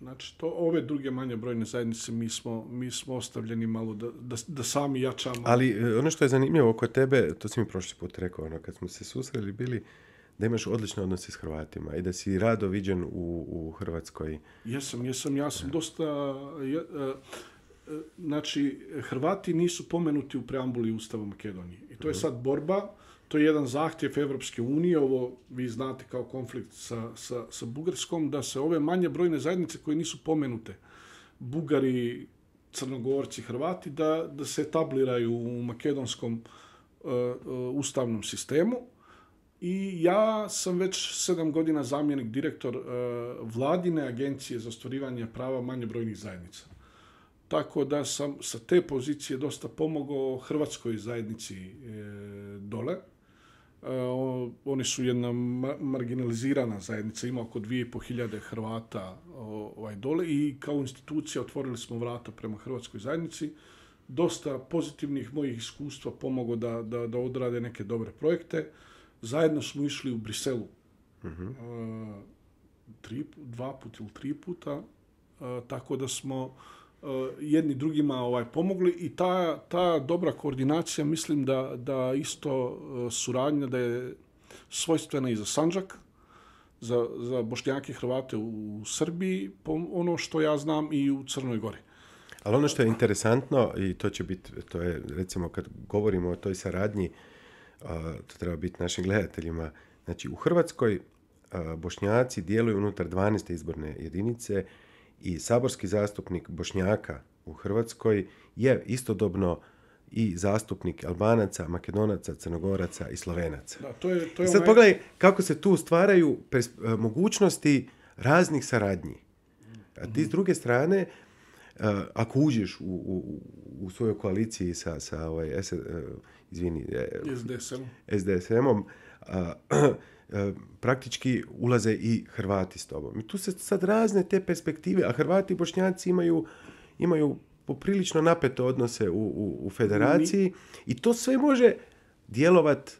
Znači, ove druge manje brojne zajednice mi smo ostavljeni malo da sami jačamo. Ali ono što je zanimljivo oko tebe, to si mi prošli put rekao, kad smo se susreli bili, da imaš odlične odnose s Hrvatima i da si rado viđen u Hrvatskoj. Ja sam dosta... Znači, Hrvati nisu pomenuti u preambuli Ustava Makedonije. I to je sad borba, to je jedan zahtjev Evropske unije, ovo vi znate kao konflikt sa Bugarskom, da se ove manje brojne zajednice koje nisu pomenute, Bugari, Crnogorci, Hrvati, da se etabliraju u makedonskom ustavnom sistemu. I ja sam već 7 godina zamjenik direktor vladine agencije za ostvarivanje prava manje brojnih zajednica. Tako da sam sa te pozicije dosta pomogao hrvatskoj zajednici dole. Oni su jedna marginalizirana zajednica, ima oko 2.500 Hrvata dole i kao institucija otvorili smo vrata prema hrvatskoj zajednici. Dosta pozitivnih mojih iskustva pomogao da odrade neke dobre projekte. Zajedno smo išli u Briselu 2 puta ili 3 puta, tako da smo jedni drugima pomogli i ta dobra koordinacija, mislim da isto suradnja da je svojstvena i za Sandžak, za Bošnjake i Hrvate u Srbiji, ono što ja znam i u Crnoj Gori. Ali ono što je interesantno, i to je recimo kad govorimo o toj saradnji, to treba biti našim gledateljima, znači u Hrvatskoj Bošnjaci djeluju unutar 12. izborne jedinice i saborski zastupnik Bošnjaka u Hrvatskoj je istodobno i zastupnik Albanaca, Makedonaca, Crnogoraca i Slovenaca. Da, I sad pogledaj kako se tu stvaraju mogućnosti raznih saradnji. A ti s druge strane, ako uđeš u svojoj koaliciji sa SDSM-om, praktički ulaze i Hrvati s tobom. I tu se sad razne te perspektive, a Hrvati i Bošnjaci imaju poprilično napete odnose u federaciji i to sve može djelovati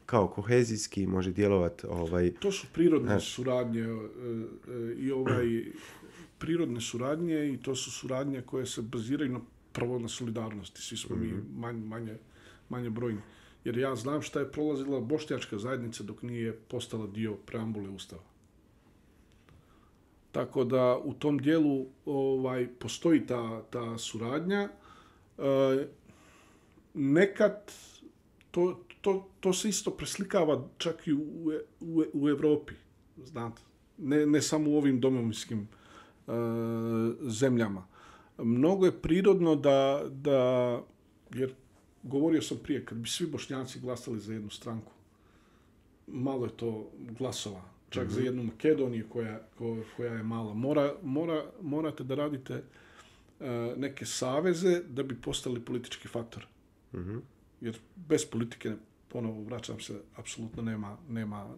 kao kohezijski, može djelovati... To su prirodne suradnje prirodne suradnje i to su suradnje koje se baziraju prvo na solidarnosti. Svi smo mi manje brojni. Jer ja znam šta je prolazila bošnjačka zajednica dok nije postala dio preambule Ustava. Tako da u tom dijelu postoji ta suradnja. Nekad to se isto preslikava čak i u Evropi, znate. Ne samo u ovim domovinskim zemljama. Mnogo je prirodno da jer govorio sam prije, kad bi svi Bošnjaci glasali za jednu stranku, malo je to glasova. Čak za jednu Makedoniju koja je mala. Morate da radite neke saveze da bi postali politički faktor. Jer bez politike, ponovo vraćam se, apsolutno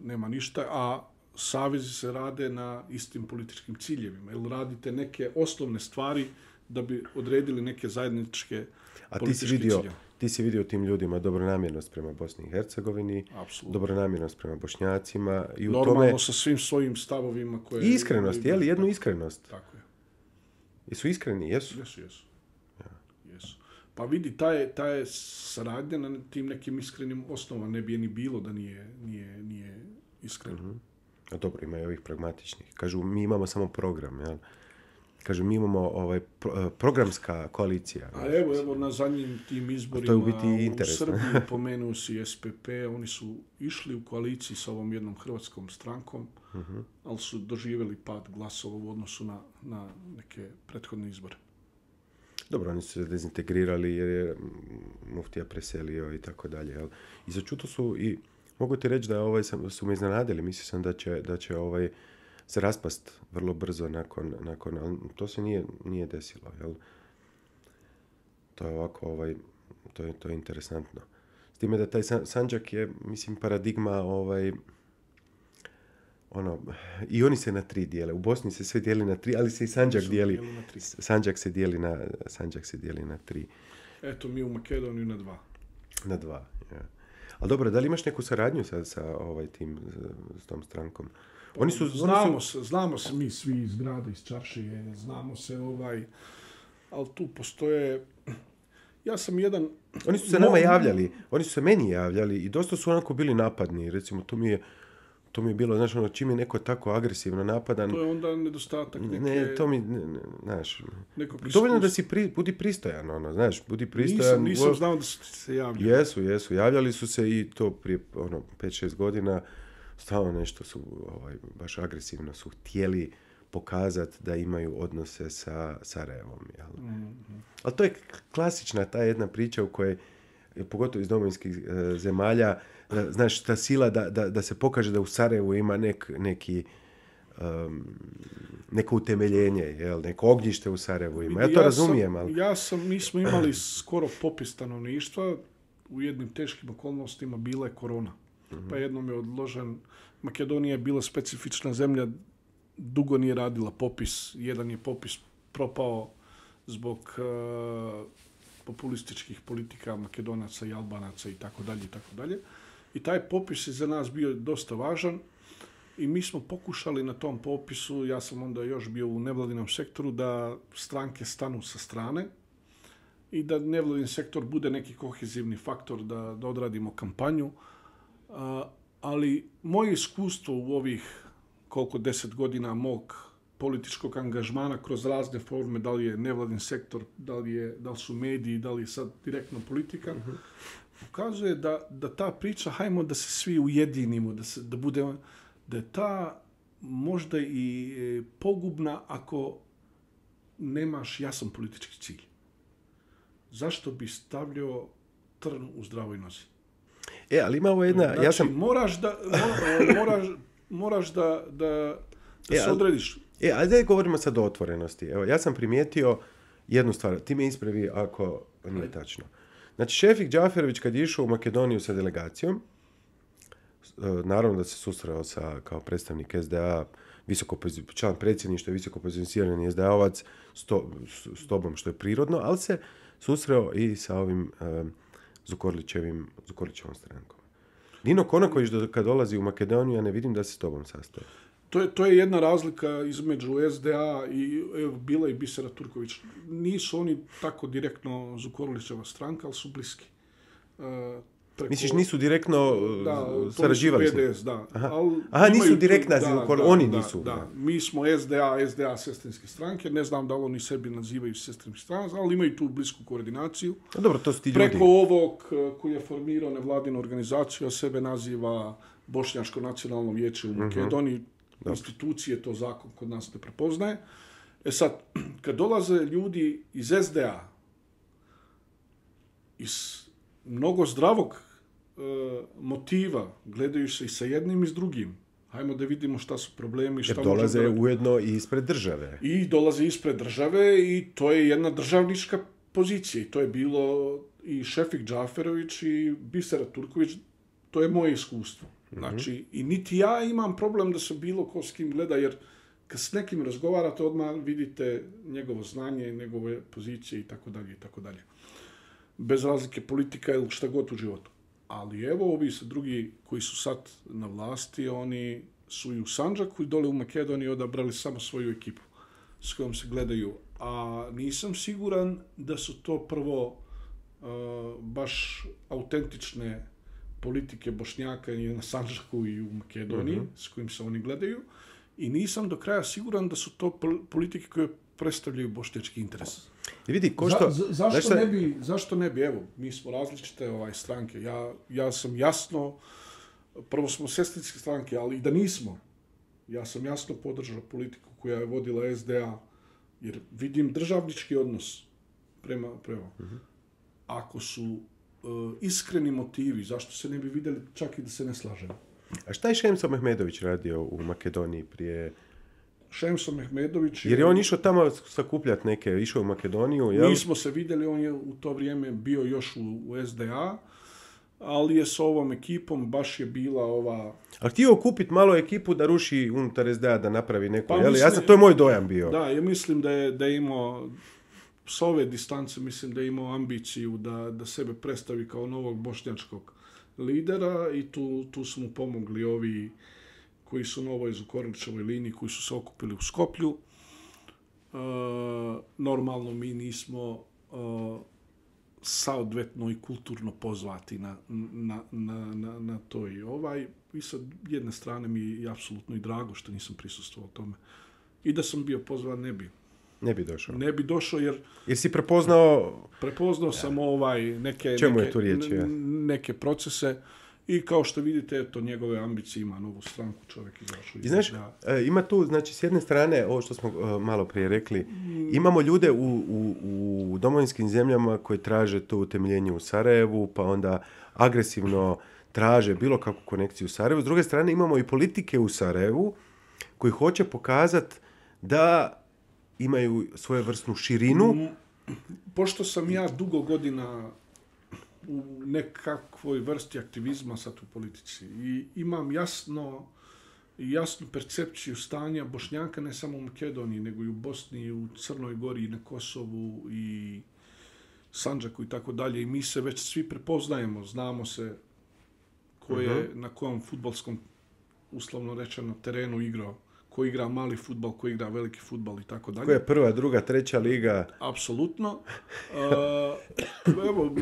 nema ništa, a savezi se rade na istim političkim ciljevima. Ili radite neke osnovne stvari da bi odredili neke zajedničke političke ciljeve. Ti si vidio tim ljudima dobronamjernost prema Bosni i Hercegovini, dobronamjernost prema Bošnjacima. I normalno sa svim svojim stavovima koje... I iskrenost, jednu iskrenost. Tako je. Jesu iskreni? Jesu. Jesu. Pa vidi, ta je saradnja na tim nekim iskrenim osnovama. Ne bi je ni bilo da nije iskreno. A dobro, ima i ovih pragmatičnih. Kažu, mi imamo samo program, jel? Kažu, mi imamo programska koalicija. A evo na zadnjim tim izborima u Srbiji pomenuo si SPP, oni su išli u koaliciji sa ovom jednom hrvatskom strankom, ali su doživjeli pad glasova u odnosu na neke prethodne izbore. Dobro, oni su se dezintegrirali jer je muftija preselio i tako dalje. Jel? I začuto su i mogu ti reći da su me iznenadili. Mislio sam da će se raspast vrlo brzo nakon ali to se nije desilo. Jel? To je ovako, to je interesantno. S time da taj Sandžak je, mislim, paradigma i oni se na 3 dijele. U Bosni se sve dijeli na 3, ali se i Sandžak dijeli. Sandžak se dijeli na 3. Eto, mi u Makedoniji na 2. Na 2, ja. Ali dobro, da li imaš neku saradnju sa s tom strankom? Znamo se mi svi iz grada, iz Čaršije, znamo se ali tu postoje. Ja sam jedan. Oni su se nama javljali, oni su se meni javljali i dosta su onako bili napadni, recimo to mi je bilo, znaš, čim je neko tako agresivno napadan. To je onda nedostatak neke. Ne, to mi, znaš. Dovoljno da budi pristojan, znaš, budi pristojan. Nisam znao da su se javljali. Jesu, javljali su se i to prije 5-6 godina. Stalno nešto su baš agresivno su htjeli pokazati da imaju odnose sa Sarajevom. Jel? Ali to je klasična ta jedna priča u kojoj, pogotovo iz domovinskih zemalja, znaš, ta sila da se pokaže da u Sarajevu ima neko utemeljenje, jel? Neko ognjište u Sarajevu ima. Ja to razumijem. Ali mi smo imali skoro popis stanovništva, u jednim teškim okolnostima bila je korona. Pa jednom je odložen. Makedonija je bila specifična zemlja, dugo nije radila popis. Jedan je popis propao zbog populističkih politika Makedonaca i Albanaca i tako dalje. I taj popis je za nas bio dosta važan i mi smo pokušali na tom popisu, ja sam onda još bio u nevladinom sektoru, da stranke stanu sa strane i da nevladin sektor bude neki kohezivni faktor, da odradimo kampanju. Ali moje iskustvo u ovih 10 godina mog političkog angažmana kroz razne forme, da li je nevladin sektor, da li su mediji, da li je sad direktno politika, pokazuje da ta priča, hajmo da se svi ujedinimo, da je ta možda i pogubna ako nemaš jasan politički cilj. Zašto bi stavljao trn u zdravoj nozi? Ali ima ovo jedna... Znači, moraš da se odrediš. Ali da govorimo sad o otvorenosti. Evo, ja sam primijetio jednu stvar. Ti me ispravi ako nije tačno. Znači, Šefik Džaferović kad je išao u Makedoniju sa delegacijom, naravno da se susreo kao predstavnik SDA, član predsjedništva, visoko pozicionirani SDA-ovac, s tobom, što je prirodno, ali se susreo i sa ovim Zukorlićevom strankom. Nino Konaković kad dolazi u Makedoniju, ja ne vidim da se s tobom sastoje. To je jedna razlika između SDA i bila i Bisera Turković. Nisu oni tako direktno Zukorlićeva stranka, ali su bliski. Misliš, nisu direktno sarađivali? PDS, da. Aha, nisu direktna, oni nisu. Da. Mi smo SDA sestrinske stranke, ne znam da li oni sebi nazivaju sestrinske stranke, ali imaju tu blisku koordinaciju. Dobro, to su ti ljudi. Preko ovog koji je formirao nevladinu organizaciju, a sebe naziva Bošnjačko nacionalno vijeće u Makedoniji, institucije, to zakon kod nas ne prepoznaje. Sad, kad dolaze ljudi iz SDA, iz mnogo zdravog motiva, gledaju se i sa jednim i s drugim. Hajmo da vidimo šta su problemi. Jer dolaze ujedno i ispred države. I dolaze ispred države i to je jedna državnička pozicija. I to je bilo i Šefik Džaferović i Bisera Turković. To je moje iskustvo. Znači, i niti ja imam problem da se bilo ko s kim gleda, jer kad s nekim razgovarate, odmah vidite njegovo znanje, njegove pozicije i tako dalje. Bez razlike politika ili šta god u životu. Ali evo ovi drugi koji su sad na vlasti, oni su i u Sandžaku i dole u Makedoniji odabrali samo svoju ekipu s kojom se gledaju. A nisam siguran da su to prvo baš autentične politike Bošnjaka i na Sandžaku i u Makedoniji, s kojim se oni gledaju, i nisam do kraja siguran da su to politike koje predstavljaju bošnjački interes. I vidi, Zašto ne bi? Evo, mi smo različite stranke. Ja sam jasno, prvo smo sestrinske stranke, ali i da nismo, ja sam jasno podržao politiku koja je vodila SDA, jer vidim državnički odnos prema. Ako su iskreni motivi, zašto se ne bi vidjeli čak i da se ne slažemo? A šta je Šemso Mehmedović radio u Makedoniji prije? Šemso Mehmedović... Jer je on išao tamo sakupljati neke, išao u Makedoniju, jel? Mi smo se vidjeli, on je u to vrijeme bio još u SDA, ali je s ovom ekipom baš je bila ova... Ali htio kupiti malo ekipu da ruši unutar SDA, da napravi neku, to je moj dojam bio. Da, ja mislim da je imao, s ove distance mislim da je imao ambiciju da sebe predstavi kao novog bošnjačkog lidera i tu su mu pomogli ovi koji su na ovoj Zukorlićevoj liniji, koji su se okupili u Skoplju. Normalno mi nismo saodvetno i kulturno pozvati na to i i sa jedne strane mi je apsolutno i drago što nisam prisustvovao tome. I da sam bio pozvan, ne bi. Ne bi došao. Ne bi došao jer si prepoznao... Prepoznao sam neke procese i kao što vidite, eto, njegove ambicije ima novu stranku, čovjek izašao. I znaš, ima tu, znači, s jedne strane, ovo što smo malo prije rekli, imamo ljude u domovinskim zemljama koji traže to utemeljenje u Sarajevu, pa onda agresivno traže bilo kakvu konekciju u Sarajevu. S druge strane, imamo i politike u Sarajevu koji hoće pokazati da imaju svojevrsnu širinu. Pošto sam ja dugo godina u nekakvoj vrsti aktivizma sad u politici i imam jasnu percepciju stanja Bošnjaka ne samo u Makedoniji, nego i u Bosni, i u Crnoj Gori, i na Kosovu, i Sandžaku i tako dalje. I mi se već svi prepoznajemo, znamo se ko je na kojem fudbalskom, uslovno rečeno, terenu igrao. Ko igra mali fudbal, ko igra veliki fudbal i tako dalje. Ko je prva, druga, treća liga? Apsolutno. Evo,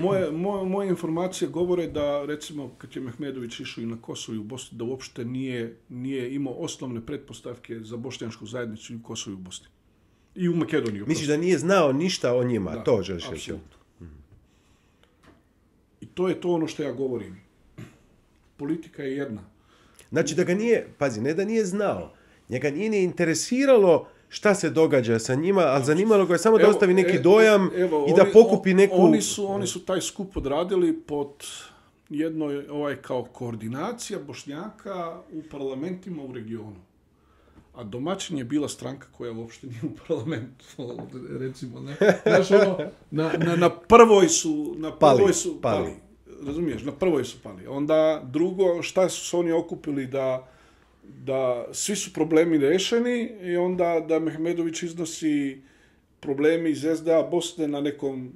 moje informacije govore da, recimo, kad je Mehmedović išao i na Kosovo i u Bosni, da uopšte nije imao osnovne pretpostavke za bošnjačku zajednicu i u Kosovu i u Bosni. I u Makedoniji. Misliš da nije znao ništa o njima? Da, to želiš reći. I to je to ono što ja govorim. Politika je jedna. Znači da ga nije, pazi, ne da nije znao, njega nije ni interesiralo šta se događa sa njima, ali zanimalo ga je samo da ostavi neki dojam i da pokupi neku... Oni su taj skup odradili pod jednoj kao koordinacija Bošnjaka u parlamentima u regionu. A domaćin je bila stranka koja uopšte nije u parlamentu, recimo. Ne? Znaš, na prvoj su pali. Razumiješ, na prvoj su pali. Onda drugo, šta su se oni okupili da svi su problemi rešeni i onda da Mehmedović iznosi problemi iz SDA Bosne na nekom,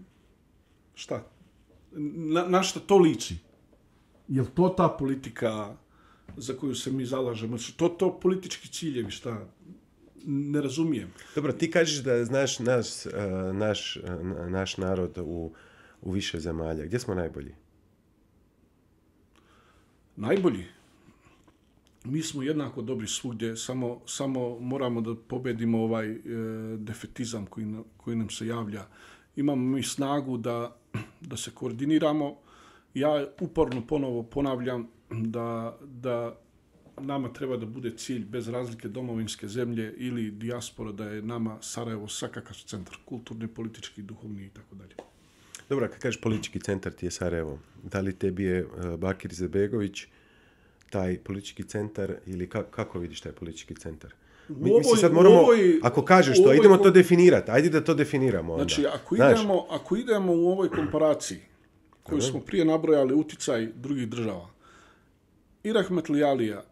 šta? Na šta to liči? Je li to ta politika za koju se mi zalažemo? To politički ciljevi, šta? Ne razumijem. Dobro, ti kažeš da znaš naš narod u više zemalja. Gdje smo najbolji? Najbolji? Mi smo jednako dobri svugdje, samo moramo da pobedimo ovaj defetizam koji nam se javlja. Imamo mi snagu da se koordiniramo. Ja uporno ponovo ponavljam da nama treba da bude cilj bez razlike domovinske zemlje ili dijaspora, da je nama Sarajevo svakakav centar, kulturni, politički, duhovni i tako dalje. Dobro, kad kažeš politički centar ti je Sarajevo, da li tebi je Bakir Izetbegović taj politički centar ili kako vidiš taj politički centar? Sad moramo, ako kažeš to, idemo to definirati. Ajde da to definiramo onda. Znači, ako idemo u ovoj komparaciji koju smo prije nabrojali uticaj drugih država, i Rahmetli Alija,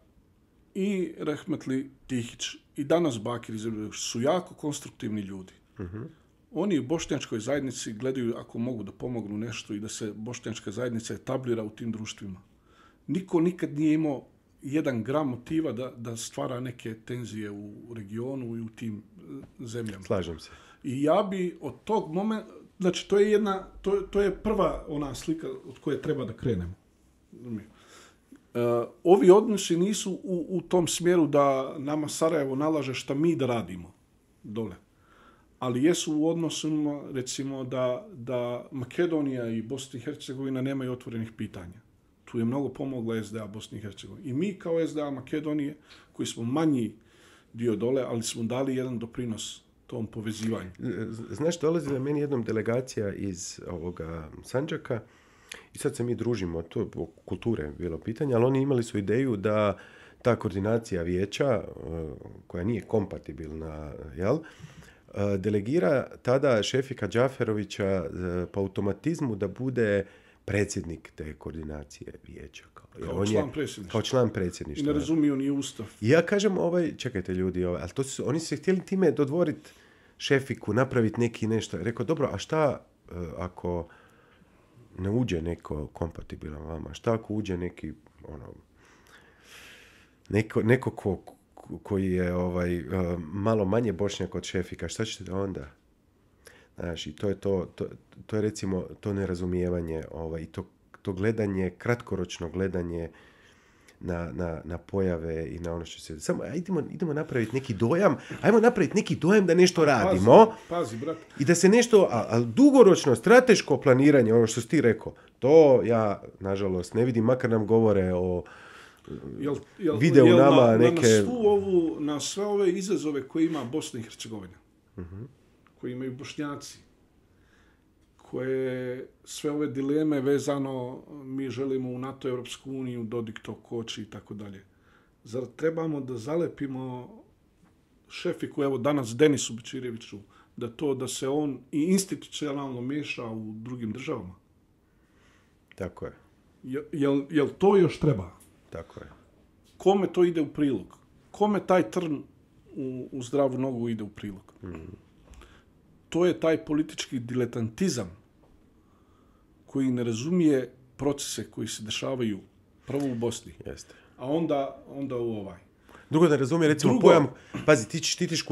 i Rahmetli Tihić, i danas Bakir Izetbegović su jako konstruktivni ljudi. Oni u bošnjačkoj zajednici gledaju ako mogu da pomognu nešto i da se bošnjačka zajednica etablira u tim društvima. Niko nikad nije imao 1 gram motiva da stvara neke tenzije u regionu i u tim zemljama. Slažem se. I ja bi od tog momenta, znači to je prva ona slika od koje treba da krenemo. Ovi odnosi nisu u tom smjeru da nama Sarajevo nalaže šta mi da radimo dole. Ali jesu u odnosima, recimo, da Makedonija i Bosna i Hercegovina nemaju otvorenih pitanja. Tu je mnogo pomogla SDA Bosni i Hercegovini. I mi kao SDA Makedonije, koji smo manji dio dole, ali smo dali jedan doprinos tom povezivanju. Znaš, dolazi na meni jednom delegacija iz ovoga Sandžaka i sad se mi družimo, to kulture bilo pitanje, ali oni imali su ideju da ta koordinacija vijeća, koja nije kompatibilna, jel, delegira tada Šefika Džaferovića po automatizmu da bude predsjednik te koordinacije vijeća. Kao član predsjedništva. I ne razumiju ni ustav. I ja kažem, čekajte ljudi, ali oni su se htjeli time dodvoriti Šefiku, napraviti neki nešto. Rekao, dobro, a šta ako ne uđe neko kompatibilan vama? Šta ako uđe neki, neko koji je malo manje Bošnjak od Šefika, šta ćete onda? Znaš, i to je recimo to nerazumijevanje i to gledanje, kratkoročno gledanje na pojave i na ono što se... Samo idemo napraviti neki dojam, ajmo napraviti neki dojam da nešto radimo. Pazi, brat. I da se nešto, ali dugoročno, strateško planiranje, ono što si ti rekao, to ja, nažalost, ne vidim, makar nam govore o video nama neke... Na sve ove izazove koje ima Bosna i Hercegovina, koje imaju Bošnjaci, koje sve ove dileme vezano, mi želimo u NATO, Europsku uniju, Dodik to koči i tako dalje. Zar trebamo da zalepimo Šefiku, evo danas Denisu Bećireviću, da se on i institucionalno miješa u drugim državama? Tako je. Jel to još treba? Tako je. Kome to ide u prilog? Kome taj trn u zdravu nogu ide u prilog? To je taj politički diletantizam koji ne razumije procese koji se dešavaju prvo u Bosni, jeste, a onda u ovaj. Drugo, da razumije, recimo, pojam, pazi, ti štitiš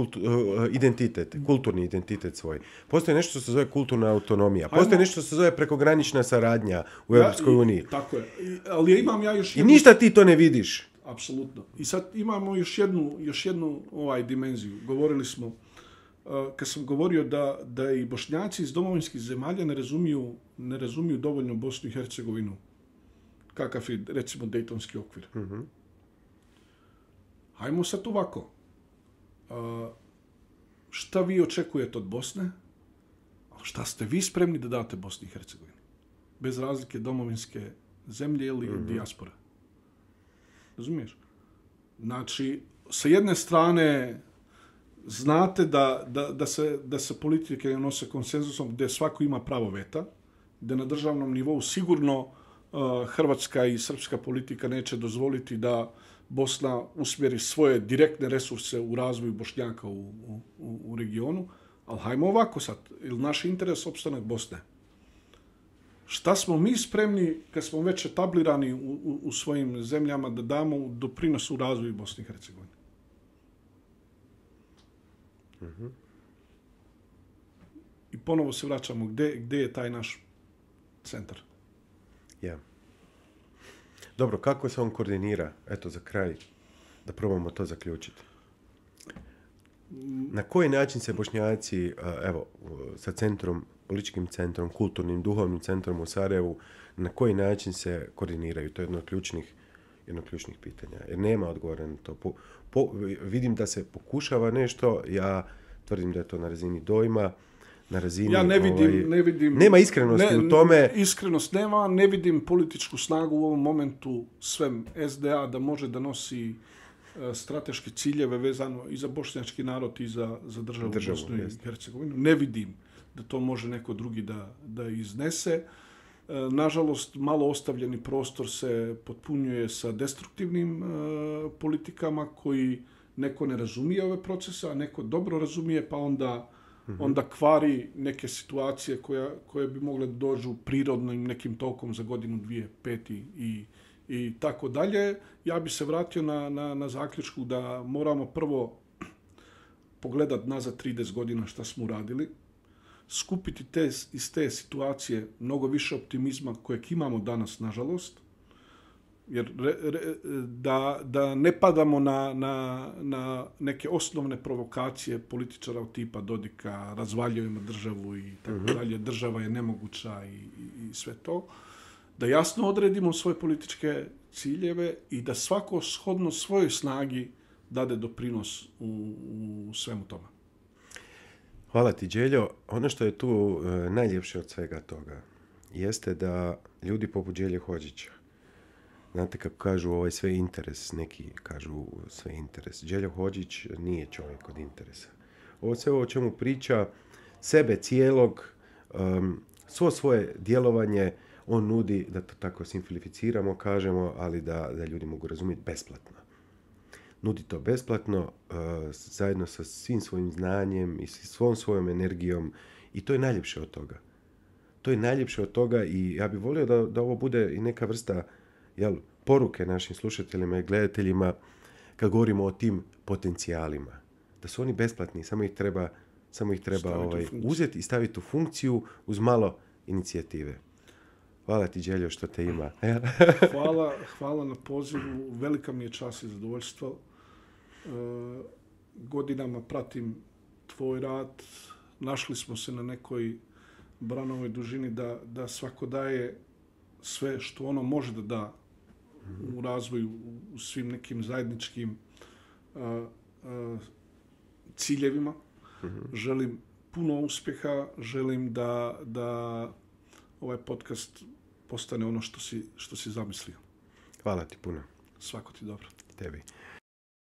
identitet, kulturni identitet svoj. Postoji nešto što se zove kulturna autonomija. Postoji nešto što se zove prekogranična saradnja u Europskoj uniji. Tako je. Ali imam ja još jednu... I ništa ti to ne vidiš. Apsolutno. I sad imamo još jednu dimenziju. Govorili smo, kad sam govorio da i Bošnjaci iz domovinskih zemalja ne razumiju dovoljno Bosnu i Hercegovinu. Kakav je, recimo, Dejtonski okvir. Hajmo sad ovako. Šta vi očekujete od Bosne? Šta ste vi spremni da date Bosni i Hercegovini? Bez razlike domovinske zemlje ili dijaspora. Razumiješ? Znači, sa jedne strane znate da se politike nose konsenzusom gdje svako ima pravo veta, gdje na državnom nivou sigurno hrvatska i srpska politika neće dozvoliti da Bosna usmjeri svoje direktne resurse u razvoju Bošnjaka u regionu, ali hajmo ovako sad, ili naš interes opstanak Bosne. Šta smo mi spremni, kad smo već etablirani u svojim zemljama, da damo doprinos u razvoju Bosne i Hercegovine? I ponovo se vraćamo, gdje je taj naš centar? Ja. Dobro, kako se on koordinira? Eto, za kraj, da probamo to zaključiti. Na koji način se Bošnjaci, evo, sa centrom, političkim centrom, kulturnim, duhovnim centrom u Sarajevu, na koji način se koordiniraju? To je jedno od ključnih pitanja. Jer nema odgovora na to. Vidim da se pokušava nešto, ja tvrdim da je to na razini dojma, na razini... Ja ne vidim... Nema iskrenosti u tome. Iskrenost nema, ne vidim političku snagu u ovom momentu svem SDA da može da nosi strateške ciljeve vezano i za bošnjački narod i za državu Bosnu i Hercegovinu. Ne vidim da to može neko drugi da iznese. Nažalost, malo ostavljeni prostor se potpunjuje sa destruktivnim politikama koji neko ne razumije ove procese, a neko dobro razumije, pa onda kvari neke situacije koje bi mogle da dođu prirodnim nekim tokom za godinu, dvije, peti i tako dalje. Ja bi se vratio na zaključku da moramo prvo pogledati nazad 30 godina šta smo uradili, skupiti iz te situacije mnogo više optimizma kojeg imamo danas, nažalost, Jer da ne padamo na neke osnovne provokacije političara od tipa Dodika, razvaljujemo državu i tako dalje, država je nemoguća i sve to, da jasno odredimo svoje političke ciljeve i da svako shodno svojoj snagi dade doprinos u svemu tome. Hvala ti, Đeljo. Ono što je tu najljepše od svega toga jeste da ljudi poput Đelje Hodžića, znate kako kažu ovo je sve interes, neki kažu sve interes. Đeljo Hodžić nije čovjek od interesa. Ovo sve o čemu priča, sebe cijelog, svo svoje djelovanje, on nudi, da to tako simplificiramo, kažemo, ali da ljudi mogu razumjeti, besplatno. Nudi to besplatno, zajedno sa svim svojim znanjem i svom svojom energijom i to je najljepše od toga. To je najljepše od toga i ja bih volio da ovo bude i neka vrsta poruke našim slušateljima i gledateljima kad govorimo o tim potencijalima. Da su oni besplatni, samo ih treba uzeti i staviti u funkciju uz malo inicijative. Hvala ti, Đeljo, što te ima. Hvala na pozivu. Velika mi je čast i zadovoljstvo. Godinama pratim tvoj rad. Našli smo se na nekoj branovoj dužini da svako daje sve što ono može da da u razvoju, u svim nekim zajedničkim ciljevima. Želim puno uspjeha, želim da ovaj podcast postane ono što si zamislio. Hvala ti puno. Svako ti dobro. Tebi.